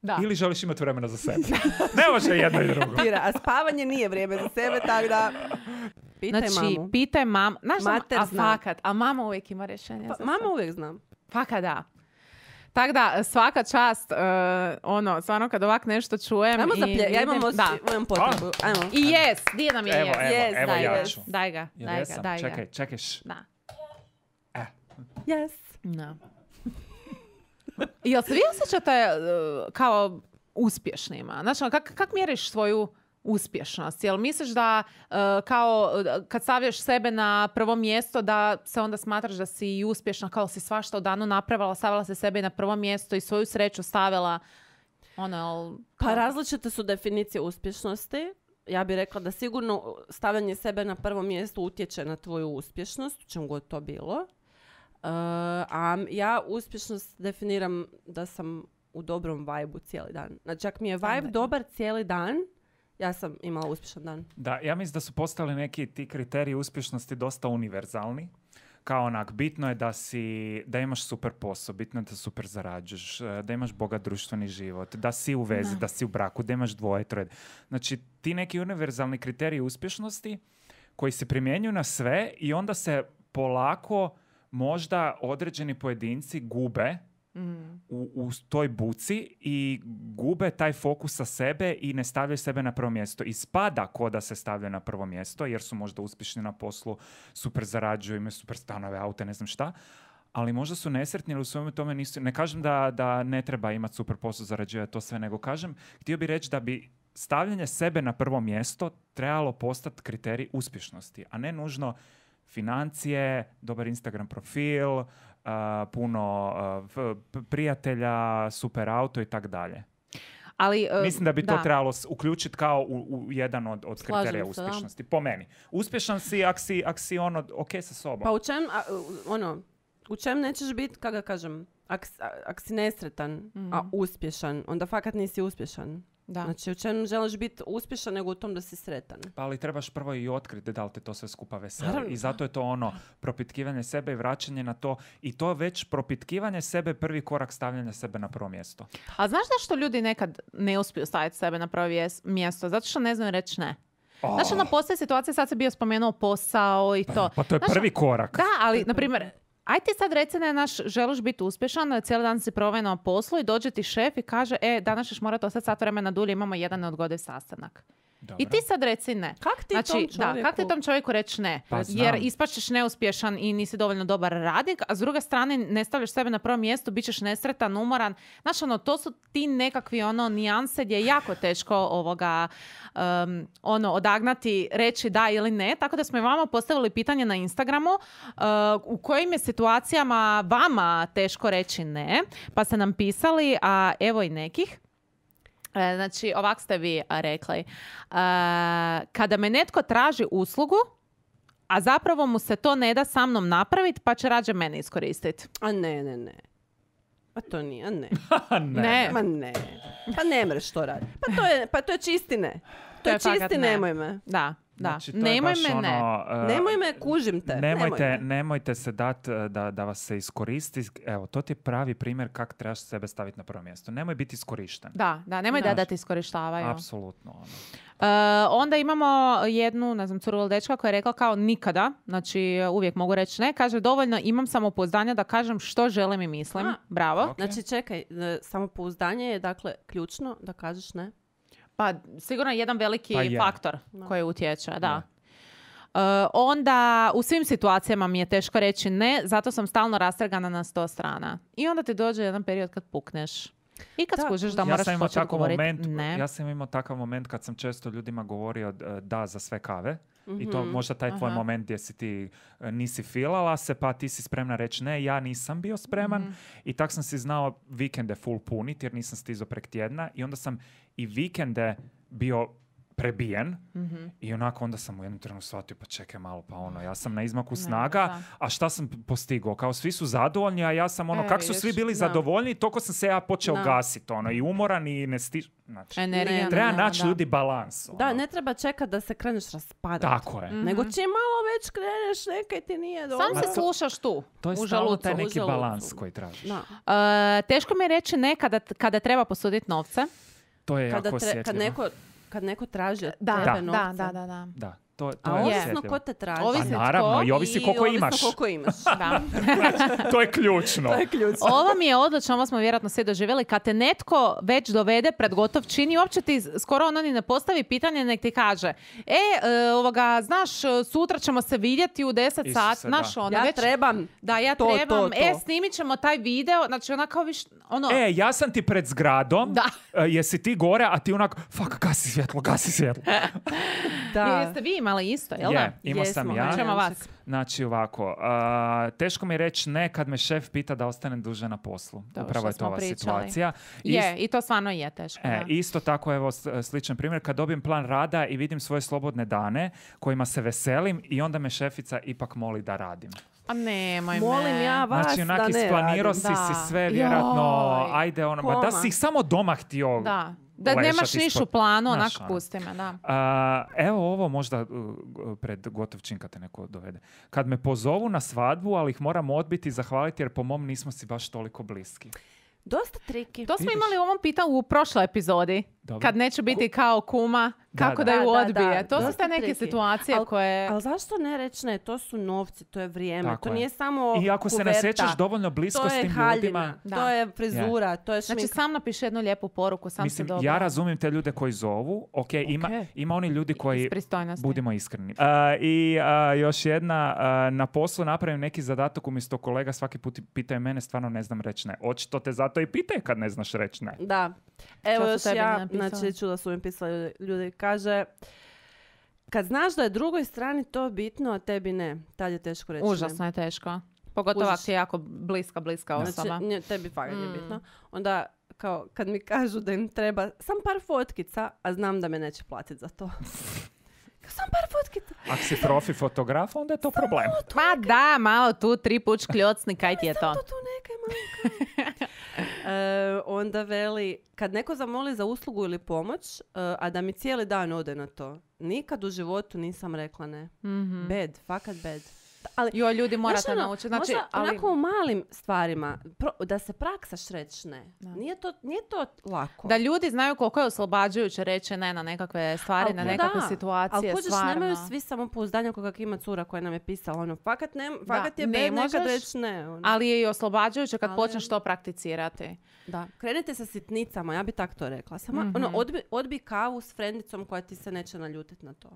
[SPEAKER 3] Da.
[SPEAKER 1] ili želiš imati vremena za sebe. Ne može jedno i drugo.
[SPEAKER 4] Pira, a spavanje nije vrijeme za sebe, tako da... Pitaj
[SPEAKER 3] Znači,
[SPEAKER 4] mamu.
[SPEAKER 3] pitaj mam. Znaš, da-
[SPEAKER 4] Mater
[SPEAKER 3] a
[SPEAKER 4] zna.
[SPEAKER 3] fakat, a mama uvijek ima rješenje
[SPEAKER 4] Pa,
[SPEAKER 3] za
[SPEAKER 4] mama
[SPEAKER 3] sve.
[SPEAKER 4] uvijek znam.
[SPEAKER 3] Fakat da. Tako da, svaka čast, uh, ono, stvarno kad ovak nešto čujem
[SPEAKER 4] Ajmo
[SPEAKER 3] i
[SPEAKER 4] za plje, ja imam,
[SPEAKER 3] vidim-
[SPEAKER 4] osjećaj,
[SPEAKER 3] da.
[SPEAKER 4] imam potrebu. Ajmo.
[SPEAKER 3] I jes, di nam je
[SPEAKER 1] Evo,
[SPEAKER 3] jes.
[SPEAKER 1] evo,
[SPEAKER 3] Yes,
[SPEAKER 1] evo
[SPEAKER 3] daj
[SPEAKER 1] ja
[SPEAKER 3] ga,
[SPEAKER 1] ću.
[SPEAKER 3] Daj ga,
[SPEAKER 1] Jel
[SPEAKER 3] daj ga,
[SPEAKER 1] jesam?
[SPEAKER 3] daj ga.
[SPEAKER 1] Čekaj, čekajš.
[SPEAKER 3] Da.
[SPEAKER 1] E,
[SPEAKER 4] Yes.
[SPEAKER 3] Da. Jel se vi osjećate uh, kao uspješnima? Znači, ono, kak, kak mjeriš svoju uspješnost? Jel misliš da uh, kao uh, kad stavljaš sebe na prvo mjesto da se onda smatraš da si i uspješna, kao si svašta u danu napravila, stavila se sebe na prvo mjesto i svoju sreću stavila ono, jel,
[SPEAKER 4] Pa različite su definicije uspješnosti. Ja bih rekla da sigurno stavljanje sebe na prvo mjesto utječe na tvoju uspješnost, u čem god to bilo. Uh, a ja uspješnost definiram da sam u dobrom vibe-u cijeli dan. Znači, ako mi je vibe dobar cijeli dan, ja sam imala uspješan dan.
[SPEAKER 1] da, ja mislim da su postali neki ti kriteriji uspješnosti dosta univerzalni. Kao onak, bitno je da si, da imaš super posao, bitno je da super zarađuješ, eh, da imaš bogat društveni život, da si u vezi, da,
[SPEAKER 3] Da.
[SPEAKER 1] si u braku, da imaš dvoje, troje. Znači, ti neki univerzalni kriteriji uspješnosti koji se primjenjuju na sve i onda se polako možda određeni pojedinci gube
[SPEAKER 3] Mm.
[SPEAKER 1] u, u toj buci i gube taj fokus sa sebe i ne stavljaju sebe na prvo mjesto. Ispada ko da se stavljaju na prvo mjesto jer su možda uspješni na poslu, super zarađuju, imaju super stanove, aute, ne znam šta, ali možda su nesretni ili u svome tome nisu... Ne kažem da, da ne treba imati super posao, zarađivati to sve, nego kažem, htio bih reći da bi stavljanje sebe na prvo mjesto trebalo postati kriterij uspješnosti, a ne nužno financije, dobar Instagram profil, uh, puno uh, f- p- prijatelja, super auto i tak dalje.
[SPEAKER 3] Ali, uh,
[SPEAKER 1] Mislim da bi to
[SPEAKER 3] da.
[SPEAKER 1] trebalo s- uključiti kao u, u jedan od, od
[SPEAKER 3] Slažem
[SPEAKER 1] kriterija
[SPEAKER 3] se, da.
[SPEAKER 1] uspješnosti. Po meni. Uspješan si ak si, ak si ono, ok sa sobom.
[SPEAKER 4] Pa u čem, a, u- ono, u čem nećeš biti, kako ga kažem, ak, s- a- ak si nesretan, a uspješan, onda fakat nisi uspješan.
[SPEAKER 3] Da.
[SPEAKER 4] Znači, u čem želiš biti uspješan nego u tom da si sretan.
[SPEAKER 1] Pa ali trebaš prvo i otkriti da li te to sve skupa veseli.
[SPEAKER 4] Naravno.
[SPEAKER 1] I zato je to ono propitkivanje sebe i vraćanje na to. I to već propitkivanje sebe prvi korak stavljanja sebe na prvo mjesto.
[SPEAKER 3] A znaš zašto ljudi nekad ne uspiju staviti sebe na prvo vjes- mjesto? Zato što ne znaju reći ne.
[SPEAKER 1] Oh,
[SPEAKER 3] Znači, ono, postoje situacije, sad se bio spomenuo posao i to.
[SPEAKER 1] pa to je
[SPEAKER 3] Znaš,
[SPEAKER 1] prvi korak.
[SPEAKER 3] Da, ali, na primjer, aj ti sad reci da je naš, želiš biti uspješan, cijeli dan si proveo na poslu i dođe ti šef i kaže, e, danas ćeš morati ostati sat vremena dulje, imamo jedan neodgodiv sastanak.
[SPEAKER 1] Dobro.
[SPEAKER 3] I ti sad reci ne.
[SPEAKER 4] Kak ti
[SPEAKER 3] znači,
[SPEAKER 4] tom
[SPEAKER 3] da,
[SPEAKER 4] čovjeku?
[SPEAKER 3] kak ti tom čovjeku reći ne?
[SPEAKER 1] Pa
[SPEAKER 3] Jer
[SPEAKER 1] znam.
[SPEAKER 3] ispašćeš neuspješan i nisi dovoljno dobar radnik, a s druge strane ne stavljaš sebe na prvo mjesto, bit ćeš nesretan, umoran. Znaš, ono, to su ti nekakvi ono nijanse gdje je jako teško ovoga um, ono, odagnati, reći da ili ne. Tako da smo i vama postavili pitanje na Instagramu uh, u kojim je situacijama vama teško reći ne. Pa ste nam pisali, a evo i nekih. E, Znači, ovak ste vi a, rekli. E, kada me netko traži uslugu, a zapravo mu se to ne da sa mnom napraviti, pa će rađe mene iskoristiti.
[SPEAKER 4] A ne, ne, ne. Pa to nije, a ne.
[SPEAKER 1] ne.
[SPEAKER 3] Ne.
[SPEAKER 4] Ma ne. Pa ne mreš to raditi. Pa to je, pa to je čisti ne. To, je
[SPEAKER 3] fakat
[SPEAKER 4] čisti
[SPEAKER 3] ne.
[SPEAKER 4] nemoj me.
[SPEAKER 3] Da, da.
[SPEAKER 1] Znači, to je
[SPEAKER 3] Nemoj
[SPEAKER 1] baš
[SPEAKER 3] me, ne.
[SPEAKER 1] ono, uh,
[SPEAKER 4] Nemoj me, kužim te.
[SPEAKER 1] Nemojte,
[SPEAKER 4] Nemoj me.
[SPEAKER 1] nemojte se dati da, da vas se iskoristi. Evo, to ti je pravi primjer kako trebaš sebe staviti na prvo mjesto. Nemoj biti iskorišten.
[SPEAKER 3] Da, da, nemoj da,
[SPEAKER 1] Da.
[SPEAKER 3] da te iskorištavaju.
[SPEAKER 1] Apsolutno. Ono.
[SPEAKER 3] E, onda imamo jednu, ne znam, curu ili dečka koja je rekla kao nikada, znači uvijek mogu reći ne, kaže dovoljno imam samopouzdanja da kažem što želim i mislim.
[SPEAKER 4] A,
[SPEAKER 3] Bravo.
[SPEAKER 1] ok.
[SPEAKER 4] Znači, čekaj, e, samopouzdanje je, dakle, ključno da kažeš ne.
[SPEAKER 3] Pa sigurno je jedan veliki
[SPEAKER 1] Pa je.
[SPEAKER 3] faktor
[SPEAKER 4] Da.
[SPEAKER 3] koji utječe, da. E, onda u svim situacijama mi je teško reći ne, zato sam stalno rastrgana na sto strana. I onda ti dođe jedan period kad pukneš. I kad
[SPEAKER 4] Da,
[SPEAKER 3] skužiš da
[SPEAKER 1] Ja
[SPEAKER 3] moraš
[SPEAKER 1] sam imao
[SPEAKER 3] početi
[SPEAKER 1] takav
[SPEAKER 3] govoriti
[SPEAKER 1] moment,
[SPEAKER 3] ne.
[SPEAKER 1] ja sam imao takav moment kad sam često ljudima govorio e, da za sve kave. I to
[SPEAKER 4] Mhm.
[SPEAKER 1] možda taj tvoj
[SPEAKER 3] Aha.
[SPEAKER 1] moment gdje si ti e, nisi filala se, pa ti si spremna reći ne, ja nisam bio spreman.
[SPEAKER 3] Mhm.
[SPEAKER 1] I tak sam si znao vikende full punit jer nisam stizao prek tjedna. I onda sam i vikende bio prebijen
[SPEAKER 3] Mhm.
[SPEAKER 1] i onako onda sam u jednom trenutku shvatio pa čekaj malo, pa ono, ja sam na izmaku
[SPEAKER 3] Ne,
[SPEAKER 1] snaga,
[SPEAKER 3] da.
[SPEAKER 1] a šta sam postigao? Kao svi su zadovoljni, a ja sam ono,
[SPEAKER 3] E,
[SPEAKER 1] kako su
[SPEAKER 3] vidiš,
[SPEAKER 1] svi bili
[SPEAKER 4] da.
[SPEAKER 1] zadovoljni, toliko sam se ja počeo
[SPEAKER 4] Da.
[SPEAKER 1] gasiti, ono, i umoran i ne stiž... Znači,
[SPEAKER 3] Energija.
[SPEAKER 4] Ne,
[SPEAKER 1] treba
[SPEAKER 3] nema,
[SPEAKER 1] naći
[SPEAKER 3] da.
[SPEAKER 1] ljudi balans. Ono.
[SPEAKER 4] Da, ne treba čekati da se kreneš raspadati.
[SPEAKER 1] Tako je.
[SPEAKER 4] Nego čim malo već kreneš, nekaj ti nije dobro.
[SPEAKER 3] Sam se slušaš tu,
[SPEAKER 1] To je
[SPEAKER 3] u
[SPEAKER 1] stalno
[SPEAKER 3] želucu.
[SPEAKER 1] taj
[SPEAKER 4] u
[SPEAKER 1] neki
[SPEAKER 4] želucu.
[SPEAKER 1] balans koji tražiš.
[SPEAKER 4] Da.
[SPEAKER 3] E, teško mi je reći ne kada, kada treba posuditi novce.
[SPEAKER 1] To je
[SPEAKER 4] Kada,
[SPEAKER 1] jako
[SPEAKER 4] tre- kad,
[SPEAKER 1] osjetljivo.
[SPEAKER 4] neko, kad neko traži od
[SPEAKER 3] Da,
[SPEAKER 4] tebe
[SPEAKER 3] da,
[SPEAKER 4] novce.
[SPEAKER 3] da, da, da.
[SPEAKER 1] Da, to, to
[SPEAKER 4] A
[SPEAKER 1] je
[SPEAKER 4] ovisno
[SPEAKER 1] osjetljivo.
[SPEAKER 4] ko te traži.
[SPEAKER 3] Ovisi
[SPEAKER 1] Pa naravno,
[SPEAKER 3] tko
[SPEAKER 1] i ovisi koliko
[SPEAKER 4] ovisno
[SPEAKER 1] imaš.
[SPEAKER 4] koliko imaš.
[SPEAKER 3] Da.
[SPEAKER 1] To je ključno.
[SPEAKER 4] To je ključno.
[SPEAKER 3] Ovo mi je odlično, ovo smo vjerojatno svi doživjeli. Kad te netko već dovede pred gotov čin i uopće ti skoro ono ni ne postavi pitanje, nek ti kaže e, e, ovoga, znaš, sutra ćemo se vidjeti u deset
[SPEAKER 1] Isuse,
[SPEAKER 3] sati.
[SPEAKER 1] da.
[SPEAKER 3] Znaš, ono,
[SPEAKER 4] Ja
[SPEAKER 3] već,
[SPEAKER 4] trebam.
[SPEAKER 3] da, ja
[SPEAKER 4] to,
[SPEAKER 3] trebam.
[SPEAKER 4] to, to.
[SPEAKER 3] E, snimit ćemo taj video. Znači, ona kao viš, ono...
[SPEAKER 1] E, ja sam ti pred zgradom,
[SPEAKER 3] Da.
[SPEAKER 1] e, jesi ti gore, a ti onako, fuck, gasi svjetlo, gasi svjetlo.
[SPEAKER 4] Da.
[SPEAKER 3] Jeste vi imali isto, jel da?
[SPEAKER 1] Je, imao sam
[SPEAKER 4] Jesmo,
[SPEAKER 1] ja.
[SPEAKER 4] hajde.
[SPEAKER 3] Ćemo vas.
[SPEAKER 1] Znači ovako, a, teško mi je reći ne kad me šef pita da ostanem duže na poslu.
[SPEAKER 3] To
[SPEAKER 1] Upravo
[SPEAKER 3] što
[SPEAKER 1] je to
[SPEAKER 3] smo
[SPEAKER 1] ova
[SPEAKER 3] pričali.
[SPEAKER 1] situacija.
[SPEAKER 3] Je, i to stvarno je teško.
[SPEAKER 1] E,
[SPEAKER 3] da.
[SPEAKER 1] isto tako, evo, s- sličan primjer, kad dobijem plan rada i vidim svoje slobodne dane kojima se veselim i onda me šefica ipak moli da radim.
[SPEAKER 3] A nemoj me.
[SPEAKER 4] Molim ja vas
[SPEAKER 1] Znači, onak
[SPEAKER 4] da ne
[SPEAKER 1] isplanirao
[SPEAKER 4] radim.
[SPEAKER 1] si
[SPEAKER 3] Da.
[SPEAKER 1] si sve, vjerojatno,
[SPEAKER 3] Joj.
[SPEAKER 1] ajde, ono, ma da
[SPEAKER 4] Koma.
[SPEAKER 1] si ih samo doma htio.
[SPEAKER 3] Da. Da
[SPEAKER 1] lešat
[SPEAKER 3] nemaš niš
[SPEAKER 1] ispod-
[SPEAKER 3] u planu,
[SPEAKER 1] Znaš,
[SPEAKER 3] onak
[SPEAKER 1] ono.
[SPEAKER 3] pusti me, da.
[SPEAKER 1] A, evo ovo možda uh, pred gotov čin kad te neko dovede. Kad me pozovu na svadbu, ali ih moram odbiti i zahvaliti jer po mom nismo si baš toliko bliski.
[SPEAKER 4] Dosta triki.
[SPEAKER 3] To smo
[SPEAKER 1] Vidiš?
[SPEAKER 3] imali u ovom pitanju u prošloj epizodi.
[SPEAKER 1] Dobro.
[SPEAKER 3] Kad neće biti kao kuma,
[SPEAKER 1] Da,
[SPEAKER 3] kako
[SPEAKER 1] da.
[SPEAKER 3] da, ju
[SPEAKER 4] Da, da,
[SPEAKER 3] odbije.
[SPEAKER 4] da.
[SPEAKER 3] To su
[SPEAKER 4] Dosta
[SPEAKER 3] te neke
[SPEAKER 4] triki.
[SPEAKER 3] situacije
[SPEAKER 4] Al-
[SPEAKER 3] koje...
[SPEAKER 4] Ali zašto ne reći ne? To su novci, to je vrijeme.
[SPEAKER 1] Tako
[SPEAKER 4] to
[SPEAKER 1] je.
[SPEAKER 4] nije samo
[SPEAKER 1] I ako se ne
[SPEAKER 4] kuverta.
[SPEAKER 1] sjećaš dovoljno blisko
[SPEAKER 4] To
[SPEAKER 1] s
[SPEAKER 4] je
[SPEAKER 1] tim
[SPEAKER 4] haljina,
[SPEAKER 1] ljudima...
[SPEAKER 3] Da.
[SPEAKER 4] to je frizura, to je šmink.
[SPEAKER 3] Znači, sam napiši jednu lijepu poruku, sam
[SPEAKER 1] Mislim,
[SPEAKER 3] se dobro.
[SPEAKER 1] ja razumijem te ljude koji zovu. Ok, ima,
[SPEAKER 3] Ok.
[SPEAKER 1] ima oni ljudi koji...
[SPEAKER 3] Iz pristojnosti.
[SPEAKER 1] Budimo iskreni. A, I a, još jedna, a, na poslu napravim neki zadatak umjesto kolega svaki put pitaju mene, stvarno ne znam reći ne. Očito te zato i pitaju kad ne znaš reći ne.
[SPEAKER 4] Da. Evo
[SPEAKER 3] su
[SPEAKER 4] još
[SPEAKER 3] tebi
[SPEAKER 4] ja,
[SPEAKER 3] napisali?
[SPEAKER 4] znači čula su mi pisali ljudi, kaže kad znaš da je drugoj strani to bitno, a tebi ne, tad je teško reći
[SPEAKER 3] Užasno
[SPEAKER 4] ne.
[SPEAKER 3] je teško. Pogotovo
[SPEAKER 4] Kužiš.
[SPEAKER 3] ako ti je jako bliska, bliska osoba.
[SPEAKER 4] Znači, nje- tebi fakat je
[SPEAKER 3] Mm.
[SPEAKER 4] bitno. Onda, kao, kad mi kažu da im treba sam par fotkica, a znam da me neće platiti za to. Sam par fotkica.
[SPEAKER 1] Ako si profi fotograf, onda je to problem.
[SPEAKER 3] Ma da, malo tu tri puć kljocni, kaj ti je to?
[SPEAKER 4] To tu nekaj malo. E, onda veli, kad neko zamoli za uslugu ili pomoć, e, a da mi cijeli dan ode na to, nikad u životu nisam rekla ne.
[SPEAKER 3] Mhm.
[SPEAKER 4] Bad, fakat bad. Ali,
[SPEAKER 3] Jo, ljudi morate
[SPEAKER 4] znaš, ono,
[SPEAKER 3] naučiti. Znači,
[SPEAKER 4] možda
[SPEAKER 3] ali...
[SPEAKER 4] onako u malim stvarima, pro, da se praksaš reći ne. Nije to, nije to lako.
[SPEAKER 3] Da ljudi znaju koliko je oslobađajuće reći ne na nekakve stvari,
[SPEAKER 4] Al
[SPEAKER 3] na
[SPEAKER 4] da,
[SPEAKER 3] nekakve
[SPEAKER 4] ali
[SPEAKER 3] situacije,
[SPEAKER 4] kužiš,
[SPEAKER 3] stvarno.
[SPEAKER 4] nemaju svi samopouzdanja kao kak ima cura koja nam je pisala. Ono, fakat, ne, fakat je
[SPEAKER 3] ne
[SPEAKER 4] bed nekad
[SPEAKER 3] možeš,
[SPEAKER 4] reći ne. Ono.
[SPEAKER 3] Ali je i oslobađajuće kad
[SPEAKER 4] Ali-
[SPEAKER 3] počneš to prakticirati.
[SPEAKER 4] Da, krenite sa sitnicama, ja bi tak to rekla. Samo,
[SPEAKER 3] Mhm.
[SPEAKER 4] ono, odbi, odbi kavu s frendicom koja ti se neće naljutiti na to.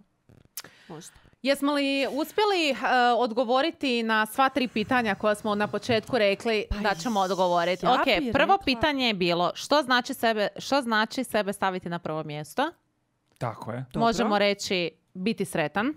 [SPEAKER 4] Možda.
[SPEAKER 3] Jesmo li uspjeli uh, odgovoriti na sva tri pitanja koja smo na početku rekli da ćemo odgovoriti?
[SPEAKER 4] ja
[SPEAKER 3] Ok,
[SPEAKER 4] bi
[SPEAKER 3] prvo
[SPEAKER 4] rekla-
[SPEAKER 3] pitanje je bilo što znači sebe, što znači sebe staviti na prvo mjesto?
[SPEAKER 1] Tako je.
[SPEAKER 4] Dobro.
[SPEAKER 3] Možemo reći biti sretan, jel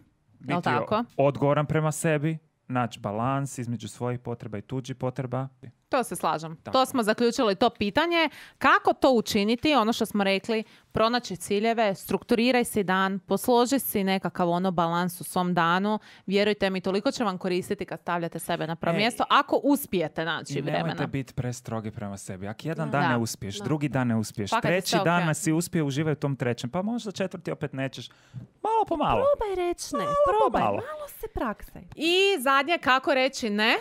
[SPEAKER 1] Biti
[SPEAKER 3] tako?
[SPEAKER 1] odgovoran prema sebi, naći balans između svojih potreba i tuđih potreba.
[SPEAKER 3] To se slažem.
[SPEAKER 1] Tako.
[SPEAKER 3] To smo zaključili to pitanje. Kako to učiniti? Ono što smo rekli, pronaći ciljeve, strukturiraj si dan, posloži si nekakav ono balans u svom danu. Vjerujte mi, toliko će vam koristiti kad stavljate sebe na prvo
[SPEAKER 1] E,
[SPEAKER 3] mjesto, ako uspijete naći
[SPEAKER 1] I
[SPEAKER 3] vremena.
[SPEAKER 1] nemojte biti prestrogi prema sebi. Ako jedan
[SPEAKER 3] Da.
[SPEAKER 1] dan ne
[SPEAKER 3] Da.
[SPEAKER 1] uspiješ,
[SPEAKER 4] Da.
[SPEAKER 1] drugi dan ne uspiješ,
[SPEAKER 3] Fakat je
[SPEAKER 1] treći
[SPEAKER 3] sve
[SPEAKER 1] dan
[SPEAKER 3] ok.
[SPEAKER 1] nas si uspije, uživaj u tom trećem, pa možda četvrti opet nećeš. Malo po malo.
[SPEAKER 4] Probaj reći ne, probaj,
[SPEAKER 1] malo.
[SPEAKER 4] malo se praksaj.
[SPEAKER 3] I zadnje, kako reći ne?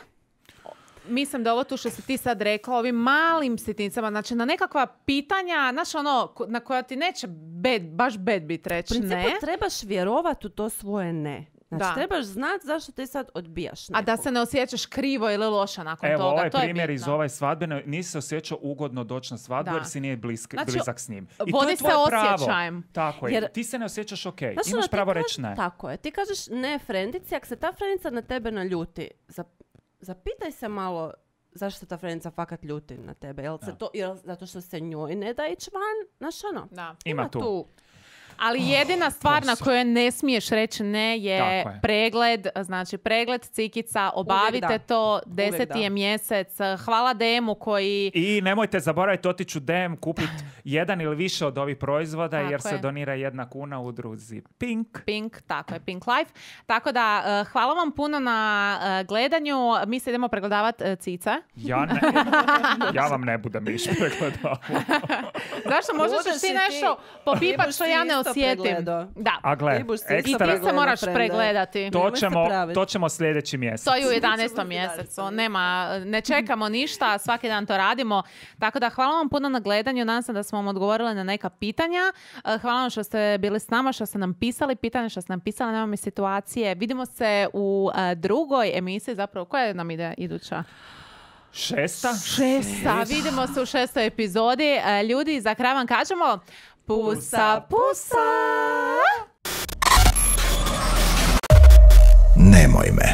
[SPEAKER 3] Mislim da ovo tu što si ti sad rekla, ovim malim sitnicama, znači na nekakva pitanja, znaš ono, ko- na koja ti neće bed, baš bed bit
[SPEAKER 4] U
[SPEAKER 3] reći
[SPEAKER 4] principu
[SPEAKER 3] ne,
[SPEAKER 4] trebaš vjerovati u to svoje ne. Znači,
[SPEAKER 3] Da.
[SPEAKER 4] trebaš znati zašto ti sad odbijaš
[SPEAKER 3] a da
[SPEAKER 4] nekog.
[SPEAKER 3] se ne osjećaš krivo ili loša nakon
[SPEAKER 1] Evo,
[SPEAKER 3] toga.
[SPEAKER 1] ovaj
[SPEAKER 3] to je
[SPEAKER 1] primjer
[SPEAKER 3] bitno.
[SPEAKER 1] iz ove svadbe, nisi se osjećao ugodno doći na svadbu
[SPEAKER 3] Da.
[SPEAKER 1] jer si nije blisk,
[SPEAKER 3] Znači,
[SPEAKER 1] blizak s njim. I to
[SPEAKER 3] vodi
[SPEAKER 1] je
[SPEAKER 3] se
[SPEAKER 1] tvoje pravo.
[SPEAKER 3] osjećajem.
[SPEAKER 1] Tako je.
[SPEAKER 4] Jer-
[SPEAKER 1] Ti se ne osjećaš ok.
[SPEAKER 4] Znaš, ono,
[SPEAKER 1] Imaš
[SPEAKER 4] ti
[SPEAKER 1] pravo
[SPEAKER 4] kažeš-
[SPEAKER 1] reći ne.
[SPEAKER 4] Tako je. Ti kažeš ne frendici, ako se ta frendica na tebe naljuti, zap- zapitaj se malo zašto ta frendica fakat ljuti na tebe. Jel se
[SPEAKER 1] Da.
[SPEAKER 4] to, jel zato što se njoj ne da ići van? Znaš ono?
[SPEAKER 3] Da.
[SPEAKER 1] Ima tu.
[SPEAKER 3] Ali jedina stvar na
[SPEAKER 1] posao.
[SPEAKER 3] koju ne smiješ reći ne je,
[SPEAKER 1] Tako je.
[SPEAKER 3] pregled, znači pregled cikica, obavite
[SPEAKER 4] da.
[SPEAKER 3] to,
[SPEAKER 4] Uvijek
[SPEAKER 3] deseti
[SPEAKER 4] da.
[SPEAKER 3] je mjesec, hvala Demu koji...
[SPEAKER 1] I nemojte zaboraviti otići u D M, kupiti jedan ili više od ovih proizvoda
[SPEAKER 3] Tako
[SPEAKER 1] jer se
[SPEAKER 3] je.
[SPEAKER 1] donira jedna kuna u udruzi Pink.
[SPEAKER 3] Pink, tako je, Pink Life. Tako da, eh, hvala vam puno na eh, gledanju. Mi se idemo pregledavati uh, cice.
[SPEAKER 1] Ja, ne, ja vam ne budem više pregledao.
[SPEAKER 3] Zašto možeš
[SPEAKER 4] Budeš
[SPEAKER 3] ti
[SPEAKER 4] i
[SPEAKER 3] nešto
[SPEAKER 4] ti.
[SPEAKER 3] popipat
[SPEAKER 4] Ti
[SPEAKER 3] što
[SPEAKER 4] buš
[SPEAKER 3] ja
[SPEAKER 4] si
[SPEAKER 3] ne
[SPEAKER 4] isto
[SPEAKER 3] osjetim.
[SPEAKER 4] pregledao.
[SPEAKER 3] Da.
[SPEAKER 1] A gle,
[SPEAKER 4] Ti buš si
[SPEAKER 3] I
[SPEAKER 4] isto
[SPEAKER 3] ti
[SPEAKER 1] ekstra,
[SPEAKER 3] se
[SPEAKER 4] pregledao,
[SPEAKER 3] moraš
[SPEAKER 4] frende.
[SPEAKER 3] pregledati.
[SPEAKER 1] to
[SPEAKER 4] Nemoj se
[SPEAKER 1] ćemo,
[SPEAKER 4] praviti.
[SPEAKER 1] to ćemo sljedeći mjesec.
[SPEAKER 3] To je u
[SPEAKER 4] Ćemo
[SPEAKER 3] jedanaestom
[SPEAKER 4] vidjeti.
[SPEAKER 3] mjesecu. Nema, ne čekamo ništa, svaki dan to radimo. Tako da hvala vam puno na gledanju. Nadam se da smo vam odgovorili na neka pitanja. Eh, Hvala vam što ste bili s nama, što ste nam pisali pitanja, što ste nam pisali na ovome situacije. Vidimo se u eh, drugoj emisiji. Zapravo, koja nam ide iduća?
[SPEAKER 1] Šesta?
[SPEAKER 3] Šesta. Vidimo se u šestoj epizodi. Eh, Ljudi, za kraj vam kažemo pusa, pusa!
[SPEAKER 2] Nemoj me.